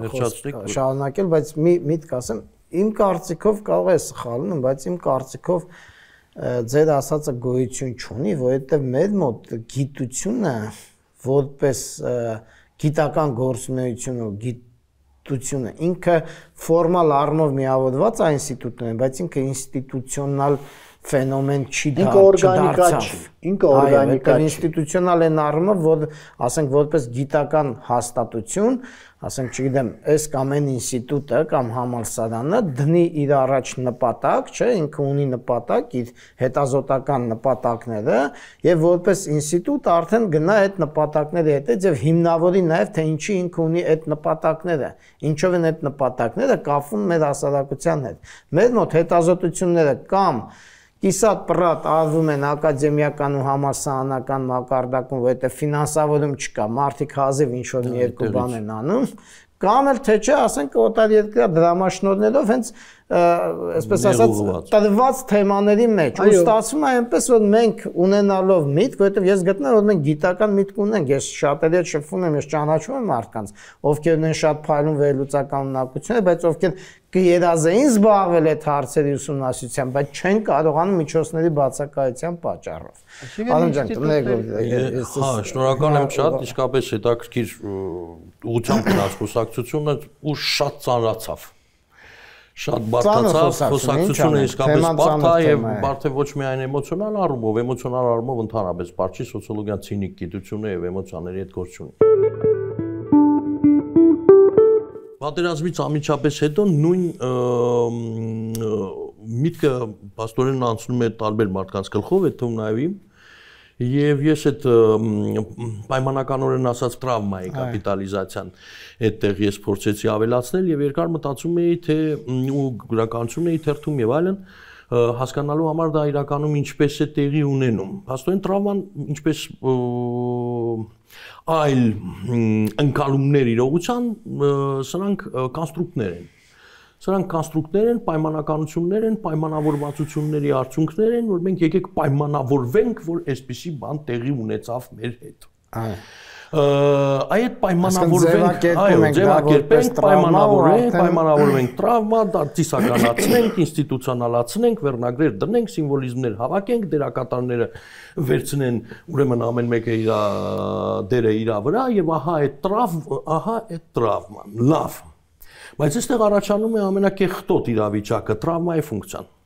եք շարունակել, բայց մի միտք ասեմ, իմ կարծիքով կարող է սխալվում, բայց իմ կարծիքով ձեր ասածը գոյություն չունի, որովհետև մեր մոտ գիտությունը որպես գիտական գործունեություն ու գիտությունը ինքը ֆորմալ առումով միավորված է ինստիտուտներն, բայց ինքը ինստիտուցիոնալ ֆենոմեն չի դա, ինքը օրգանիկա չի, ինքը օրգանիկա չի, ինստիտուցիոնալ են առումով, որ ասենք որպես գիտական հաստատություն, ասենք չգիտեմ, այս կամ այն ինստիտուտը կամ համալսարանը դնի իր առաջ նպատակ, չէ, ինքը ունի նպատակ, իր հետազոտական նպատակները եւ որպես ինստիտուտ արդեն գնա այդ նպատակների հետ եւ հիմնավորի նաեւ թե ինչի ինքը ունի այդ նպատակները, ինչով են այդ նպատակները կապվում մեր հասարակության հետ։ Մեր մոտ հետազոտությունները կամ կիսատ պրատ արվում են ակադեմիական ու համալսարանական մակարդակում, որովհետև ֆինանսավորում չկա, մարդիկ հազիվ ինչ-որ մի երկու բան են անում, կամ էլ թե չէ, ասենք օտարերկրյա դրամաշնորհներով հենց այսպես ասած տրված թեմաների մեջ ու ստացվում է այնպես որ մենք ունենալով միտք, որովհետև ես գտնում եմ որ մենք գիտական միտք ունենք, ես շատերի հետ շփվում եմ, ես ճանաչում եմ մարդկանց, ովքեր ունեն շատ փայլուն վերլուծական ունակություններ, բայց ովքեր կերազեին զբաղվել այդ հարցերի ուսումնասիրությամբ, բայց չեն կարողանում միջոցների բացակայության պատճառով։ Արոն ջան, տնեք։ Հա, շնորհակալ եմ շատ, իսկապես հետաքրքիր ուղղությամբ գնաց խոսակցությունը ու շատ ծանրացավ։ Շատ բարդացավ, խոսակցությունը իսկապես բարդ է եւ բարդ է ոչ միայն էմոցիոնալ առումով, էմոցիոնալ առումով ընդհանրապես բարդ չի, սոցիոլոգիան ցինիկ գիտություն է եւ էմոցիաների հետ գործ չունի։ Պատերազմից ամիջապես հետո նույն միտքը պաստորեն անցնում է տարբեր մարդկանց գլխով, այդ թվում նաեւ իմ, եւ ես այդ պայմանականորեն ասած տրավմայի կապիտալիզացիան այդտեղ ես փորձեցի ավելացնել եւ երկար մտածում էի թե ու գրականություն էի թերթում եւ այլն հասկանալու համար դա իրականում ինչպես է տեղի ունենում։ Փաստորեն տրավման ինչպես այլ ընկալումներ իրողության սրանք կոնստրուկտներ են։ Սրանք կոնստրուկտներ են, պայմանականություններ են, պայմանավորվածությունների արդյունքներ են, որ մենք եկեք պայմանավորվենք, որ այսպիսի բան տեղի ունեցավ մեր հետ։ Այդ պայմանավորվենք, այո, ձևակերպենք, պայմանավորենք, պայմանավորվենք տրավմա, դարձիսականացնենք, ինստիտուցիոնալացնենք, վերնագրեր դնենք, սիմվոլիզմներ հավաքենք, դերակատարները վերցնեն, ուրեմն ամեն մեկը իր դերը իր վրա եւ ահա այդ տրավ, ահա այդ տրավման, լավ։ Բայց այստեղ առաջանում է ամենակեղտոտ իրավիճակը տրավմայի ֆունկցիան։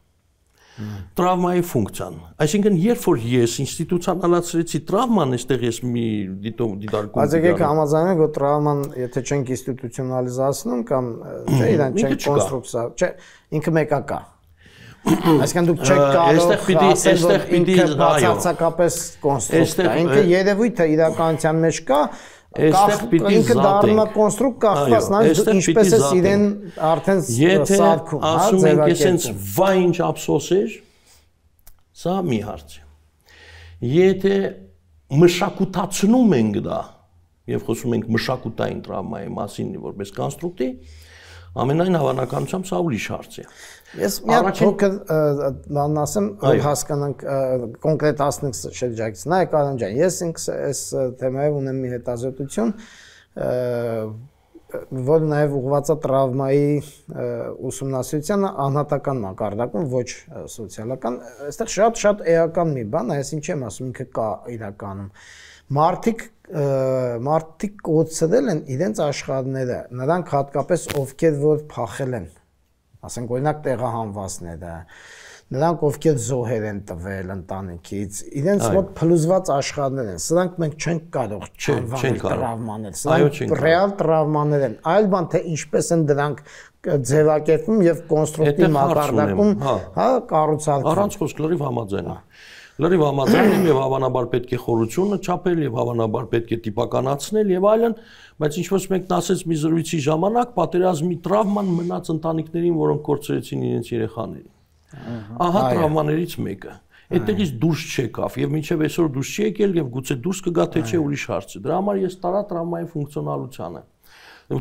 Տրավմայի ֆունկցիան։ Այսինքն, երբ որ ես ինստիտուցիոնալացրեցի տրավման, այստեղ ես մի դիտարկում։ Բայց եկեք համաձայնենք, որ տրավման, եթե չենք ինստիտուցիոնալիզացնում կամ չէ, իրան չենք կոնստրուկցիա, չէ, ինքը մեկա կա։ Այսինքն դուք չեք կարող ասել, որ ինքը բացարձակապես կոնստրուկտ է։ Ինքը երևույթ է իրականության մեջ կա, Այստեղ պիտի ինքը դառնում է կոնստրուկտ կախված նայած դու ինչպես ես իրեն արդեն սարքում, հա, ասում ենք այսպես վայ ինչ ափսոս էր, սա մի հարց է։ Եթե մշակութացնում ենք դա եւ խոսում ենք մշակութային տրավմայի մասին որպես կոնստրուկտի, ամենայն հավանականությամբ սա ուրիշ հարց է։ Ես մի հատ փոքր բան ասեմ, որ հասկանանք կոնկրետացնենք շրջակից։ Նայեք Արոն ջան, ես ինքս այս թեմայով ունեմ մի հետազոտություն, որ նաև ուղղված է տրավմայի ուսումնասիրությանը անհատական մակարդակում, ոչ սոցիալական։ Այստեղ շատ-շատ էական մի բան, այս ինչ եմ ասում, ինքը կա իրականում։ Մարդիկ մարդիկ կոծրել են իրենց աշխարհները, նրանք հատկապես ովքեր որ փախել են, ասենք օրինակ տեղահանվածները, նրանք ովքեր զոհեր են տվել ընտանիքից, իրենց մոտ փլուզված աշխարհներ են, սրանք մենք չենք կարող չանվանել տրավմաներ, սրանք ռեալ տրավմաներ են, այլ բան թե ինչպես են դրանք ձևակերպվում եւ կոնստրուկտիվ մակարդակում, հա, կառուցարկվում։ Առանց խոսք լրիվ համաձայն եմ։ Լրիվ համաձայն եմ եւ հավանաբար պետք է խորությունը չափել եւ հավանաբար պետք է տիպականացնել եւ այլն, բայց ինչ-որ մեկն ասեց մի զրույցի ժամանակ պատերազմի տրավման մնաց ընտանիքներին, որոնք կորցրեցին իրենց երեխաներին։ Ահա տրավմաներից մեկը։ Այդտեղից դուրս չեկավ եւ մինչեւ այսօր դուրս չի եկել եւ գուցե դուրս կգա թե չէ ուրիշ հարց է։ Դրա համար ես տարա տրավմայի ֆունկցիոնալությանը։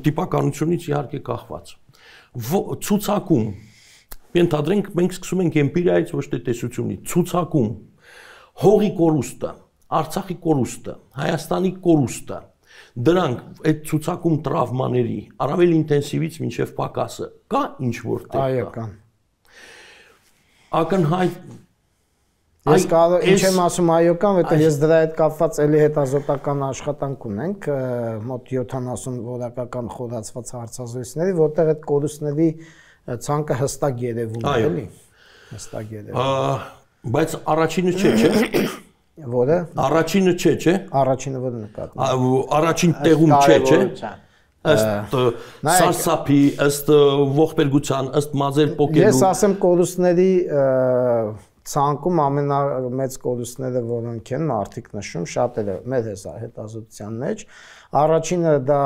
Տիպականությունից իհարկե կախված։ Ցուցակում ենթադրենք մենք սկսում ենք էմպիրիայից ոչ թե տեսությունից, ցուցակում հողի կորուստը, Արցախի կորուստը, Հայաստանի կորուստը, դրանք այդ ցուցակում տրավմաների առավել ինտենսիվից մինչև պակասը կա ինչ որտեղ կա։ Այո, կա։ Ակնհայտ Ես կարող ինչ եմ ասում այո կան, որտեղ ես դրա հետ կապված էլի հետազոտական աշխատանք ունենք, մոտ յոթանասուն որակական խորացված հարցազրույցների, որտեղ այդ կորուստների ցանկը հստակ երևում է, էլի։ Հստակ երևում։ Բայց առաջինը չէ, չէ։ Որը։ Առաջինը չէ, չէ։ Առաջինը որը նկատում։ Առաջին տեղում չէ, չէ։ Ըստ սարսափի, ըստ ողբերգության, ըստ մազեր պոկելու։ Ես ասեմ կորուստների ցանկում ամենամեծ կորուստները որոնք են մարդիկ նշում, շատերը մեր հետազոտության մեջ, առաջինը դա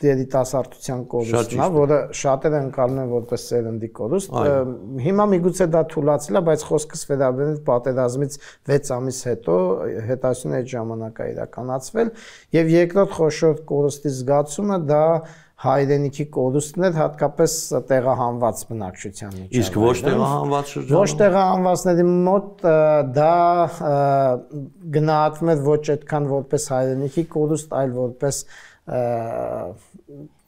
երիտասարդության կորուստն է, որը շատերը ընկալում են որպես սերնդի կորուստ։ Հիմա միգուցե դա թուլացել է, բայց խոսքս վերաբերում պատերազմից վեց ամիս հետո հետազոտությունը այդ ժամանակ է իրականացվել, եւ երկրորդ խոշոր կորուստի զգացումը դա հայրենիքի կորուստն էր, հատկապես տեղահանված բնակչության միջև։ Իսկ ոչ տեղահանված շրջանում։ Ոչ տեղահանվածների մոտ դա գնահատվում է ոչ այդքան որպես հայրենիքի կորուստ, այլ որպես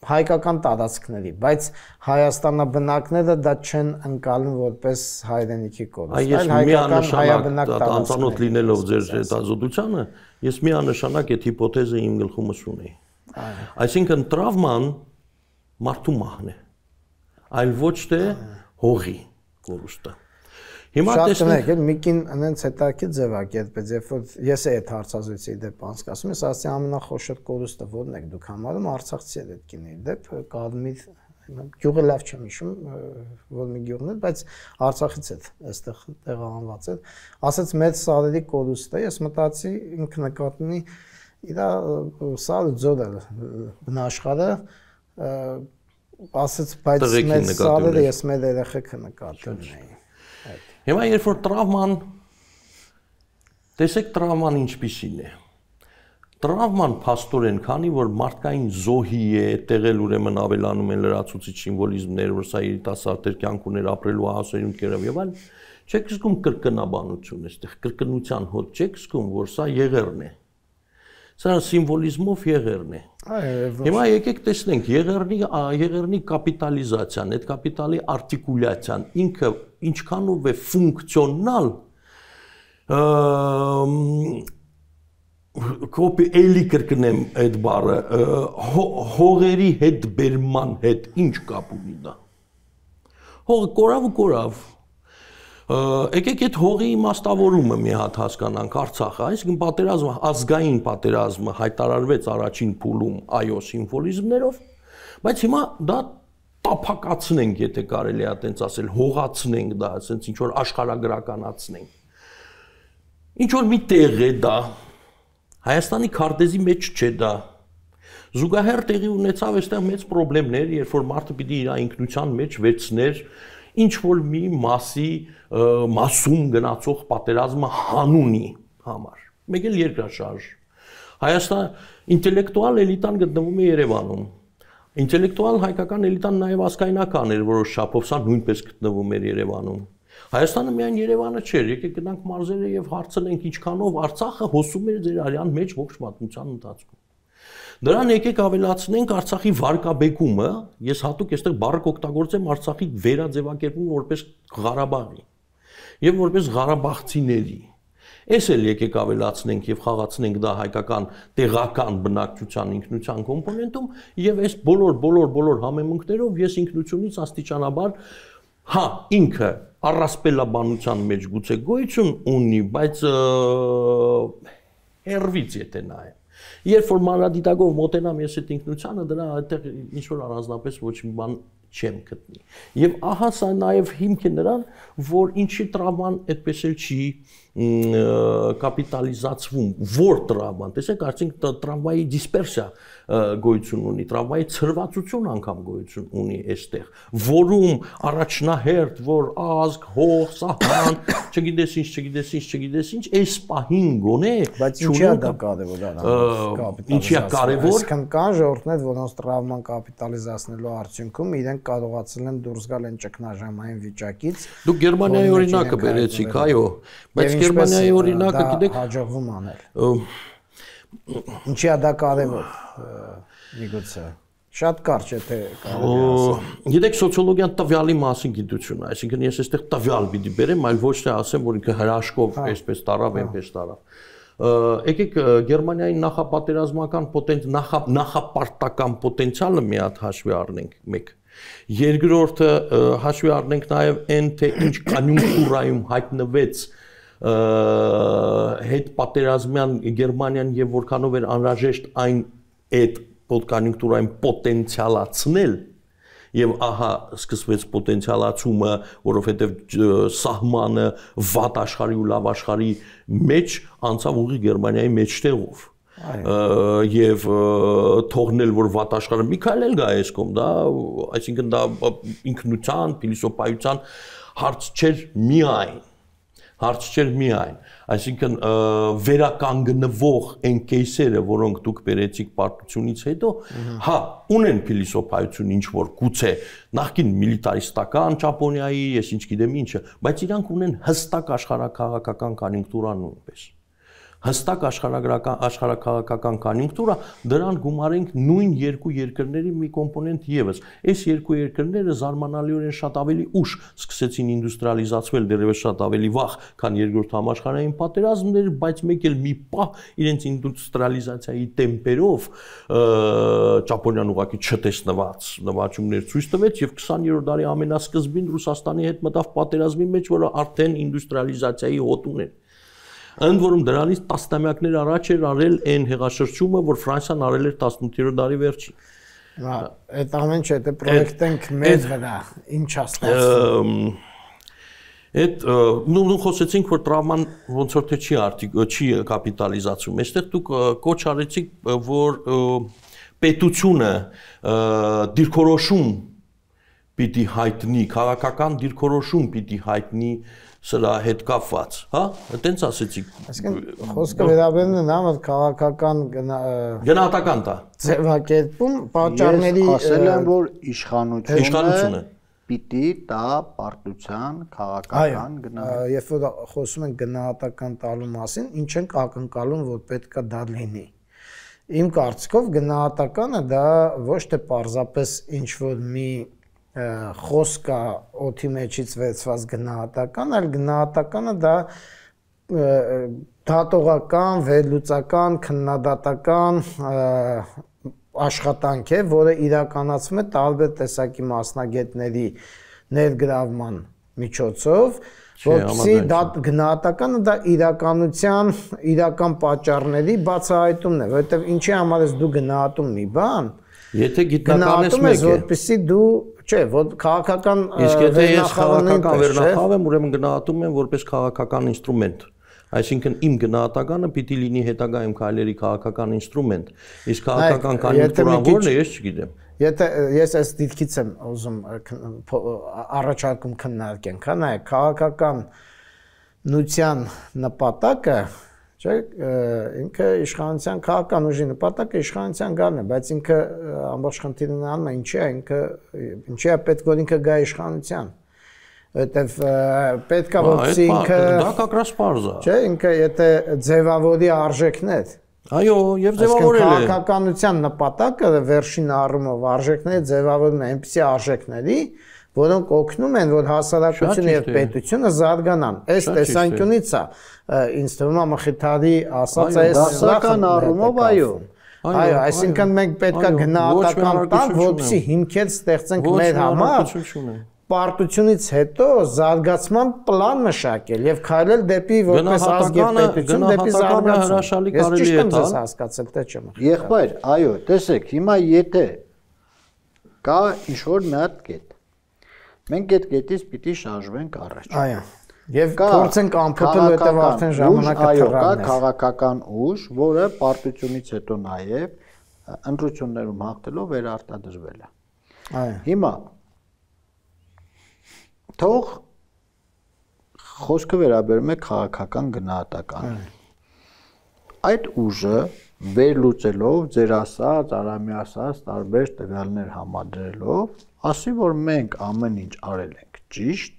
հայկական տարածքների, բայց հայաստանաբնակները դա չեն ընկալում որպես հայրենիքի կորուստ, այլ հայկական հայաբնակ տարածքներ։ Անծանոթ լինելով ձեր հետազոտությանը, ես միանշանակ այդ հիպոթեզը իմ գլխումս ունեի։ Այսինքն տրավման մարդու մահն է, այլ ոչ թե հողի կորուստը։ Հիմա տեսնեք, Միկին այնց հետաքրքիր ձևակերպեց, երբ որ ես այդ հարցազրույցի դեպ անցկացնում, ես ասացի ամենախոշոր կորուստը որն եք դուք համարում, արցախցի այդ կինի դեպ Կադմիր գյուղը լավ չեմ հիշում, որ մի գյուղն էր, բայց Արցախից էր, այստեղ տեղահանված էր, ասաց մեծ սարերի կորուստը, ես մտածի ինքը նկատի ունի իր սարը ձորը բնաշխարը ասաց, բայց մեծ սարերը ես մեր երեխեքը նկատի ունեի։ Հիմա երբ որ տրավման, տեսեք տրավման ինչպիսին է։ Տրավման փաստորեն, քանի որ մարդկային զոհի է, տեղել ուրեմն ավելանում են լրացուցիչ սիմվոլիզմներ, որ սա երիտասարդեր կյանք ուներ ապրելու հասարուն կերավ եւ այլն, չեք զգում կրկնաբանություն այստեղ, կրկնության հոտ չեք զգում, որ սա եղերն է։ Սա սիմվոլիզմով եղերն է։ Հիմա եկեք տեսնենք եղերնի եղերնի կապիտալիզացիան, այդ կապիտալի արտիկուլյացիան ինքը ինչքանով է ֆունկցիոնալ կոպի էլի կրկնեմ այդ բառը հողերի հետ բերման հետ ինչ կապ ունի դա։ Հողը կորավ ու կորավ։ Եկեք այդ հողի իմաստավորումը մի հատ հասկանանք Արցախը, այսինքն պատերազմը, ազգային պատերազմը հայտարարվեց առաջին փուլում այո սիմվոլիզմներով, բայց հիմա դա տափակացնենք, եթե կարելի է այդպես ասել, հողացնենք դա, ասենց ինչ որ աշխարհագրականացնենք։ Ինչ որ մի տեղ է դա, Հայաստանի քարտեզի մեջ չէ դա։ Զուգահեռ տեղի ունեցավ այստեղ մեծ խնդիրներ, երբ որ մարդը պիտի իր ինքնության մեջ վերցներ ինչ որ մի մասի մասում գնացող պատերազմը հանունի համար։ Մեկ էլ երկրաշարժ։ Հայաստան ինտելեկտուալ էլիտան գտնվում է Երևանում։ Ինտելեկտուալ հայկական էլիտան նաև ազգայնական էր որոշ չափով, սա նույնպես գտնվում էր Երևանում։ Հայաստանը միայն Երևանը չէր, եկեք գնանք մարզերը եւ հարցնենք ինչքանով Արցախը հոսում էր ձեր արյան մեջ ողջ պատմության ընթացքում։ Դրան եկեք ավելացնենք Արցախի վարկաբեկումը, ես հատուկ այստեղ բառը կօգտագործեմ Արցախի վերաձևակերպումը որպես Ղարաբաղի եւ որպես Ղարաբաղցիների։ Էս էլ եկեք ավելացնենք եւ խաղացնենք դա հայկական տեղական բնակչության ինքնության կոմպոնենտում եւ այս բոլոր բոլոր բոլոր համեմունքներով ես ինքնությունից աստիճանաբար հա ինքը առասպելաբանության մեջ գուցե գոյություն ունի, բայց հերվից եթե նայեմ Երբ որ մանրադիտակով մոտենամ ես այդ ինքնությանը, դրա այդտեղ ինչ որ առանձնապես ոչ մի բան չեմ գտնի։ Եվ ահա սա նաև հիմք է նրան, որ ինչի տրավման այդպես էլ չի կապիտալիզացվում, որ տրավման, տեսեք, արդյունք տրավմայի դիսպերսիա գոյություն ունի, տրավմայի ցրվածություն անգամ գոյություն ունի այստեղ, որում առաջնահերթ, որ ազգ, հող, սահման, չգիտես ինչ, չգիտես ինչ, չգիտես ինչ, այս պահին գոնե, բայց ինչի՞ է դա կարևոր կապիտալիզացիա։ Ինչի՞ է կարևոր։ Այսինքն կան ժողովուրդներ, որոնց տրավման կապիտալիզացնելու արդյունքում իրենք կարողացել են դուրս գալ այն ճգնաժամային վիճակից։ Դուք Գերմանիայի օրինակը բերեցիք, այո, բայց Գերմանիայի օրինակը գիտեք հաջողվում անել։ Ինչի՞ է դա կարևոր, միգուցե։ Շատ կարճ է թե կարելի ասել։ Գիտեք, սոցիոլոգիան տվյալի մասին գիտություն է, այսինքն ես այստեղ տվյալ պիտի բերեմ, այլ ոչ թե ասեմ, որ ինքը հրաշքով այսպես տարավ, այնպես տարավ։ Եկեք Գերմանիայի նախապատերազմական պոտենցիալ, նախապարտական պոտենցիալը մի հատ հաշվի առնենք մեկ։ Երկրորդը հաշվի առնենք նաև այն, թե ինչ կոնյունկտուրայում հայտնվեց հետ պատերազմյան Գերմանիան եւ որքանով էր անհրաժեշտ այն այդ կոնյունկտուրային պոտենցիալացնել եւ ահա սկսվեց պոտենցիալացումը, որովհետեւ սահմանը վատ աշխարհի ու լավ աշխարհի մեջ անցավ ուղի Գերմանիայի մեջտեղով եւ թողնել որ վատ աշխարհը մի քայլ էլ գա այս կողմ, դա այսինքն դա ինքնության, փիլիսոփայության հարց չէր միայն հարց չէր միայն, այսինքն վերականգնվող այն կեյսերը, որոնք դուք բերեցիք պարտությունից հետո, հա, ունեն փիլիսոփայություն ինչ որ գուցե նախկին միլիտարիստական Ճապոնիայի, ես ինչ գիտեմ ինչը, բայց իրանք ունեն հստակ աշխարհաքաղաքական կոնյունկտուրա նույնպես։ Հստակ աշխարհագրական աշխարհաքաղաքական կոնյունկտուրա, դրան գումարենք նույն երկու երկրների մի կոմպոնենտ եւս։ Այս երկու երկրները զարմանալիորեն շատ ավելի ուշ սկսեցին ինդուստրիալիզացվել, դեռևս շատ ավելի վաղ, քան երկրորդ համաշխարհային պատերազմները, բայց մեկ էլ մի պահ իրենց ինդուստրիալիզացիայի տեմպերով Ճապոնիան ուղղակի չտեսնված նվաճումներ ցույց տվեց եւ քսաներորդ դարի ամենասկզբին Ռուսաստանի հետ մտավ պատերազմի մեջ, որը արդեն ինդուստրիալիզացիայի հոտ ուներ։ Ընդ որում դրանից տասնամյակներ առաջ էր արել այն հեղաշրջումը, որ Ֆրանսիան արել էր տասնութերորդ դարի վերջին։ Հա, այդ ամեն չէ, դե պրոյեկտենք մեր վրա, ինչ է ստացվում։ Այդ նույն խոսեցինք, որ տրավման ոնց որ թե չի արդի չի կապիտալիզացում։ Այստեղ դուք կոչ արեցիք, որ պետությունը դիրքորոշում պիտի հայտնի, քաղաքական դիրքորոշում պիտի հայտնի սրա հետ կապված, հա, այտենց ասեցիք։ Այսինքն խոսքը վերաբերում է նամը քաղաքական գնահատական տա։ Ձևակերպում պատճառների ասել եմ, որ իշխանությունը իշխանությունը պիտի տա պարտության քաղաքական գնահատական։ Երբ որ խոսում են գնահատական տալու մասին, ինչ են ակնկալում, որ պետքա դա լինի։ Իմ կարծիքով գնահատականը դա ոչ թե պարզապես ինչ որ մի խոսքա օդի մեջից վերցված գնահատական, այլ գնահատականը դա դատողական, վերլուծական, քննադատական աշխատանք է, որը իրականացվում է տարբեր տեսակի մասնագետների ներգրավման միջոցով, որպեսզի դա գնահատականը դա իրականության իրական պատճառների բացահայտումն է, որովհետև ինչի համար ես դու գնահատում մի բան, եթե գիտնականես մեկ է, որպեսզի դու չէ, որ քաղաքական իսկ եթե ես քաղաքական վերնախավ եմ, ուրեմն գնահատում եմ որպես քաղաքական ինստրումենտ։ Այսինքն իմ գնահատականը պիտի լինի հետագայում քայլերի քաղաքական ինստրումենտ։ Իսկ քաղաքական կոնյունկտուրան որն է, ես չգիտեմ։ Եթե ես այս դիտքից եմ ուզում առաջարկում քննարկենք, հա, նայեք, քաղաքական նույնության նպատակը, չէ, ինքը իշխանության քաղաքական ուժի նպատակը իշխանության գալն է, բայց ինքը ամբողջ խնդիրն անում է ինչի է, ինքը ինչի է պետք որ ինքը գա իշխանության, որտեվ պետք է որպեսզի ինքը դա կակրաս պարզ է, չէ, ինքը եթե ձևավորի արժեքներ, այո, եւ ձևավորել է քաղաքականության նպատակը վերջին առումով արժեքները ձևավորում են այնպիսի արժեքների, որոնք օգնում են, որ հասարակությունը եւ պետությունը զարգանան։ Այս տեսանկյունից է ինձ թվում է Մխիթարի ասած այս դասական առումով, այո։ Այո, այսինքն մենք պետք է գնահատական տանք, որպեսզի հիմքեր ստեղծենք մեր համար։ Պարտությունից հետո զարգացման պլան մշակել եւ քայլել դեպի որպես ազգ եւ պետություն դեպի զարգացում։ Ես ճիշտ եմ հասկացել, թե չեմ։ Եղբայր, այո, տեսեք, հիմա եթե կա ինչ-որ մի հատ կետ։ Մենք այդ կետից պիտի շարժվենք առաջ։ Այո։ Եվ փորձենք ամփոփել, որտեղ արդեն ժամանակը թռան է։ Այո, կա թռան է։ քաղաքական ուժ, որը պարտությունից հետո նաև ընտրություններում հաղթելով վերարտադրվել է։ Այո։ Հիմա թող խոսքը վերաբերում է քաղաքական գնահատականին։ Այդ ուժը վերլուծելով ձեր ասած, Արամի ասած տարբեր տվյալներ համադրելով, ասի որ մենք ամեն ինչ արել ենք ճիշտ,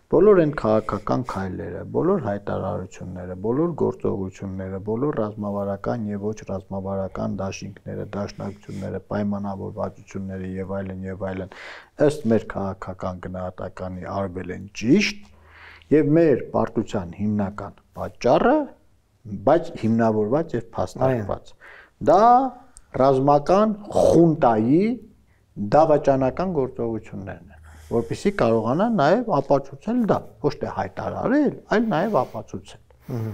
բոլոր այն քաղաքական քայլերը, բոլոր հայտարարությունները, բոլոր գործողությունները, բոլոր ռազմավարական եւ ոչ ռազմավարական դաշինքները, դաշնակցությունները, պայմանավորվածությունները եւ այլն եւ այլն ըստ մեր քաղաքական գնահատականի արվել են ճիշտ եւ մեր պարտության հիմնական պատճառը, բայց հիմնավորված եւ փաստարկված։ Դա ռազմական խունտայի դավաճանական գործողություններն են, որպեսզի կարողանան նաև ապացուցել դա, ոչ թե հայտարարել, այլ նաև ապացուցել։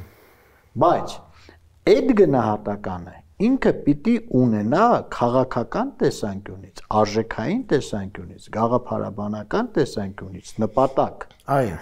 Բայց այդ գնահատականը ինքը պիտի ունենա քաղաքական տեսանկյունից, արժեքային տեսանկյունից, գաղափարաբանական տեսանկյունից նպատակ։ Այո։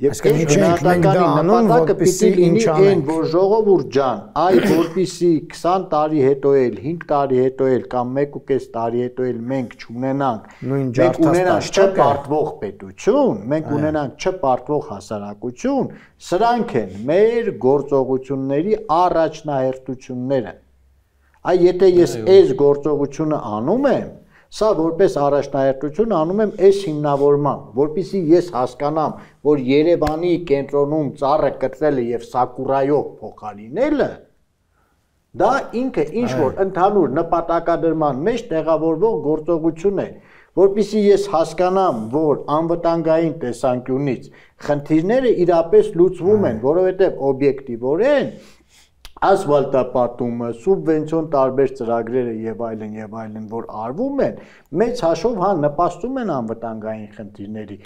Եվ այս գնահատականի նպատակը պիտի լինի այն, որ ժողովուրդ ջան, այ որպեսզի քսան տարի հետո էլ, հինգ տարի հետո էլ կամ մեկ ու կես տարի հետո էլ մենք չունենանք, մենք ունենանք չպարտվող պետություն, մենք ունենանք չպարտվող հասարակություն, սրանք են մեր գործողությունների առաջնահերթությունները։ Այ եթե ես այս գործողությունը անում եմ, սա որպես առաջնահերթություն անում եմ այս հիմնավորմամբ, որպեսզի ես հասկանամ, որ Երևանի կենտրոնում ծառը կտրելը եւ Սակուրայով փոխարինելը, դա ինքը ինչ որ ընդհանուր նպատակադրման մեջ տեղավորվող գործողություն է, որպեսզի ես հասկանամ, որ անվտանգային տեսանկյունից խնդիրները իրապես լուծվում են, որովհետեւ օբյեկտիվորեն ասֆալտապատումը, սուբվենցիոն տարբեր ծրագրերը եւ այլն եւ այլն, որ արվում են, մեծ հաշվով հա նպաստում են անվտանգային խնդիրների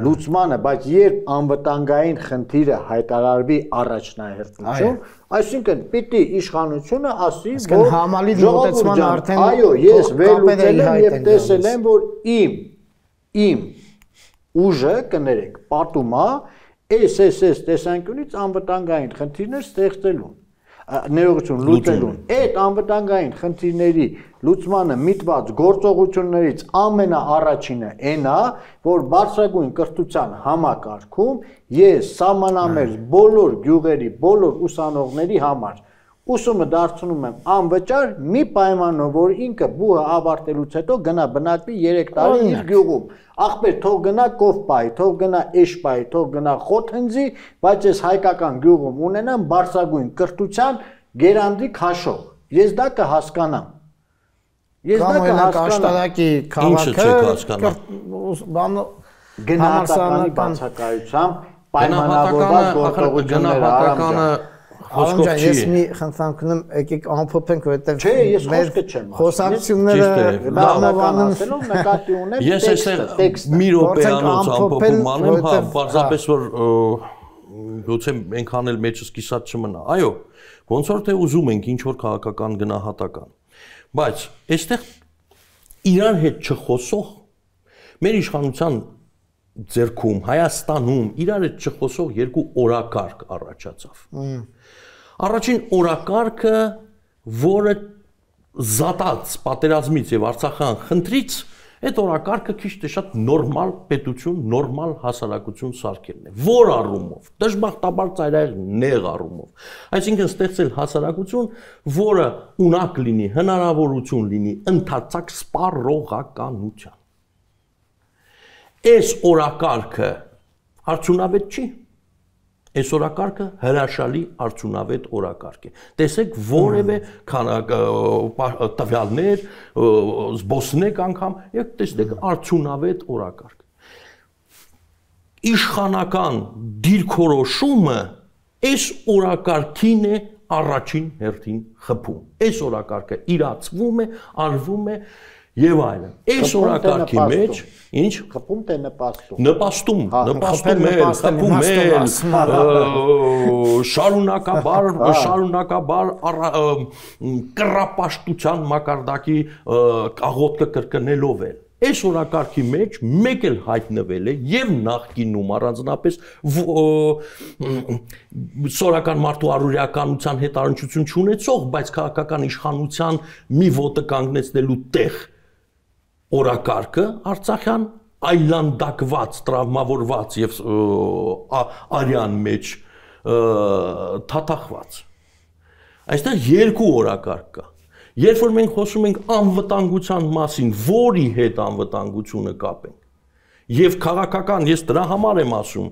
լուծմանը, բայց երբ անվտանգային խնդիրը հայտարարվի առաջնահերթություն, այսինքն պիտի իշխանությունը ասի, որ համալիր մոտեցման արդեն այո, ես վերլուծել եմ եւ տեսել եմ, որ իմ իմ ուժը կներեք, պատում է էս էս էս տեսանկյունից անվտանգային խնդիրներ ստեղծելուն, ներողություն լուծելուն, այդ անվտանգային խնդիրների լուծմանը միտված գործողություններից ամենաառաջինը այն է, որ բարձրագույն կրթության համակարգում ես սահմանամերձ բոլոր գյուղերի, բոլոր ուսանողների համար ուսումը դարձնում եմ անվճար մի պայմանով, որ ինքը բուհը ավարտելուց հետո գնա բնակվի երեք տարի իր գյուղում։ Ախպեր, թող գնա կով պայի, թող գնա էշ պայի, թող գնա խոտ հնձի, բայց ես հայկական գյուղում ունենամ բարձրագույն կրթության գերանդի քաշող։ Ես դա կհասկանամ։ Ես դա կհասկանամ։ Աշտարակի քաղաքը գնահատականի բացակայությամբ պայմանավորված գործողությունները Խոսքով չի։ Ես մի խնդրանք ունեմ, եկեք ամփոփենք, որովհետև չէ, ես խոսքը չեմ ասում։ Խոսակցությունները բավականացնելով նկատի ունեմ ես այստեղ մի րոպեանոց ամփոփում անեմ, հա, պարզապես որ գուցե այնքան էլ մեջս կիսած չմնա։ Այո, ոնց որ թե ուզում ենք ինչ որ քաղաքական գնահատական։ Բայց այստեղ իրար հետ չխոսող մեր իշխանության ձեռքում Հայաստանում իրար հետ չխոսող երկու օրակարգ առաջացավ։ Առաջին օրակարգը, որը զատած պատերազմից եւ Արցախյան խնդրից, այդ օրակարգը քիչ թե շատ նորմալ պետություն, նորմալ հասարակություն սարքելն է։ Որ առումով, դժբախտաբար ծայրահեղ նեղ առումով։ Այսինքն ստեղծել հասարակություն, որը ունակ լինի, հնարավորություն լինի ընդարձակ սպառողականության։ Այս օրակարգը արդյունավետ չի։ Այս օրակարգը հրաշալի արդյունավետ օրակարգ է։ Տեսեք որևէ տվյալներ, զբոսնեք անգամ, եւ տեսնեք արդյունավետ օրակարգ։ Իշխանական դիրքորոշումը այս օրակարգին է առաջին հերթին խփում։ Այս օրակարգը իրացվում է, արվում է եւ այլն։ Այս օրակարգի մեջ ինչ խփում թե նպաստում։ Նպաստում, նպաստում է, խփում է, շարունակաբար, շարունակաբար կռապաշտության մակարդակի աղոթքը կրկնելով է։ այս օրակարգի մեջ մեկ էլ հայտնվել է եւ նախկինում առանձնապես սորական մարդու առօրյականության հետ առնչություն չունեցող, բայց քաղաքական իշխանության մի ոտը կանգնեցնելու տեղ օրակարգը Արցախյան այլանդակված, տրավմավորված եւ արյան մեջ թաթախված։ Այստեղ երկու օրակարգ կա։ Երբ որ մենք խոսում ենք անվտանգության մասին, որի հետ անվտանգությունը կապենք, եւ քաղաքական, ես դրա համար եմ ասում,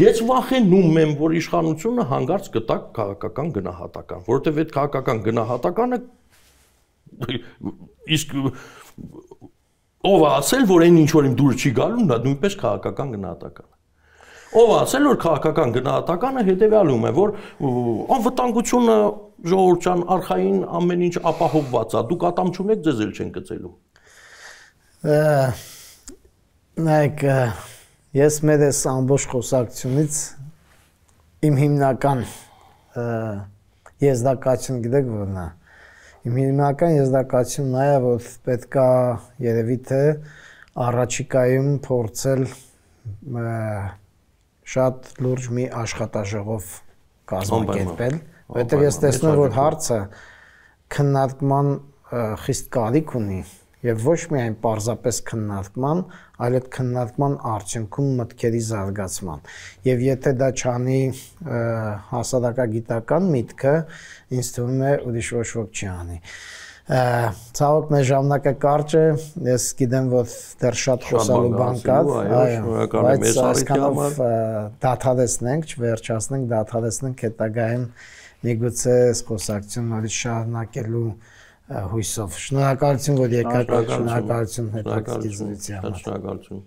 ես վախենում եմ, որ իշխանությունը հանգարց կտա քաղաքական գնահատական, որովհետեւ այդ քաղաքական գնահատականը իսկ ով ասել, որ այն ինչ որ իմ դուր չի գալու, դա նույնպես քաղաքական գնահատական է։ Ով ասել, որ քաղաքական գնահատականը հետեւյալում է, որ անվտանգությունը ժողովրդյան արխային ամեն ինչ ապահովված է, դուք ատամ չունեք, ձեզ էլ չեն գծելու։ Նայեք, ես մեր այս ամբողջ խոսակցությունից իմ հիմնական եզրակացությունը գիտեք որն է։ Իմ հիմնական եզրակացությունն նա է, որ պետք է երևի թե առաջիկայում փորձել շատ լուրջ մի աշխատաժողով կազմակերպել, որովհետև ես տեսնում եմ, որ հարցը քննարկման խիստ կարիք ունի եւ ոչ միայն պարզապես քննարկման, այլ այդ քննարկման արդյունքում մտքերի զարգացման։ Եվ եթե դա չանի հասարակագիտական միտքը, ինձ թվում է ուրիշ ոչ ոք չի անի։ Ցավոք մեր ժամանակը կարճ է, ես գիտեմ, որ դեռ շատ խոսալու բան կա, բայց այսքանով դադարեցնենք, չվերջացնենք, դադարեցնենք հետագայում միգուցե այս խոսակցությունն նորից շարունակելու հույսով։ Շնորհակալություն, որ եկաք, շնորհակալություն հետաքրքիր զրույցի համար։ Շնորհակալություն։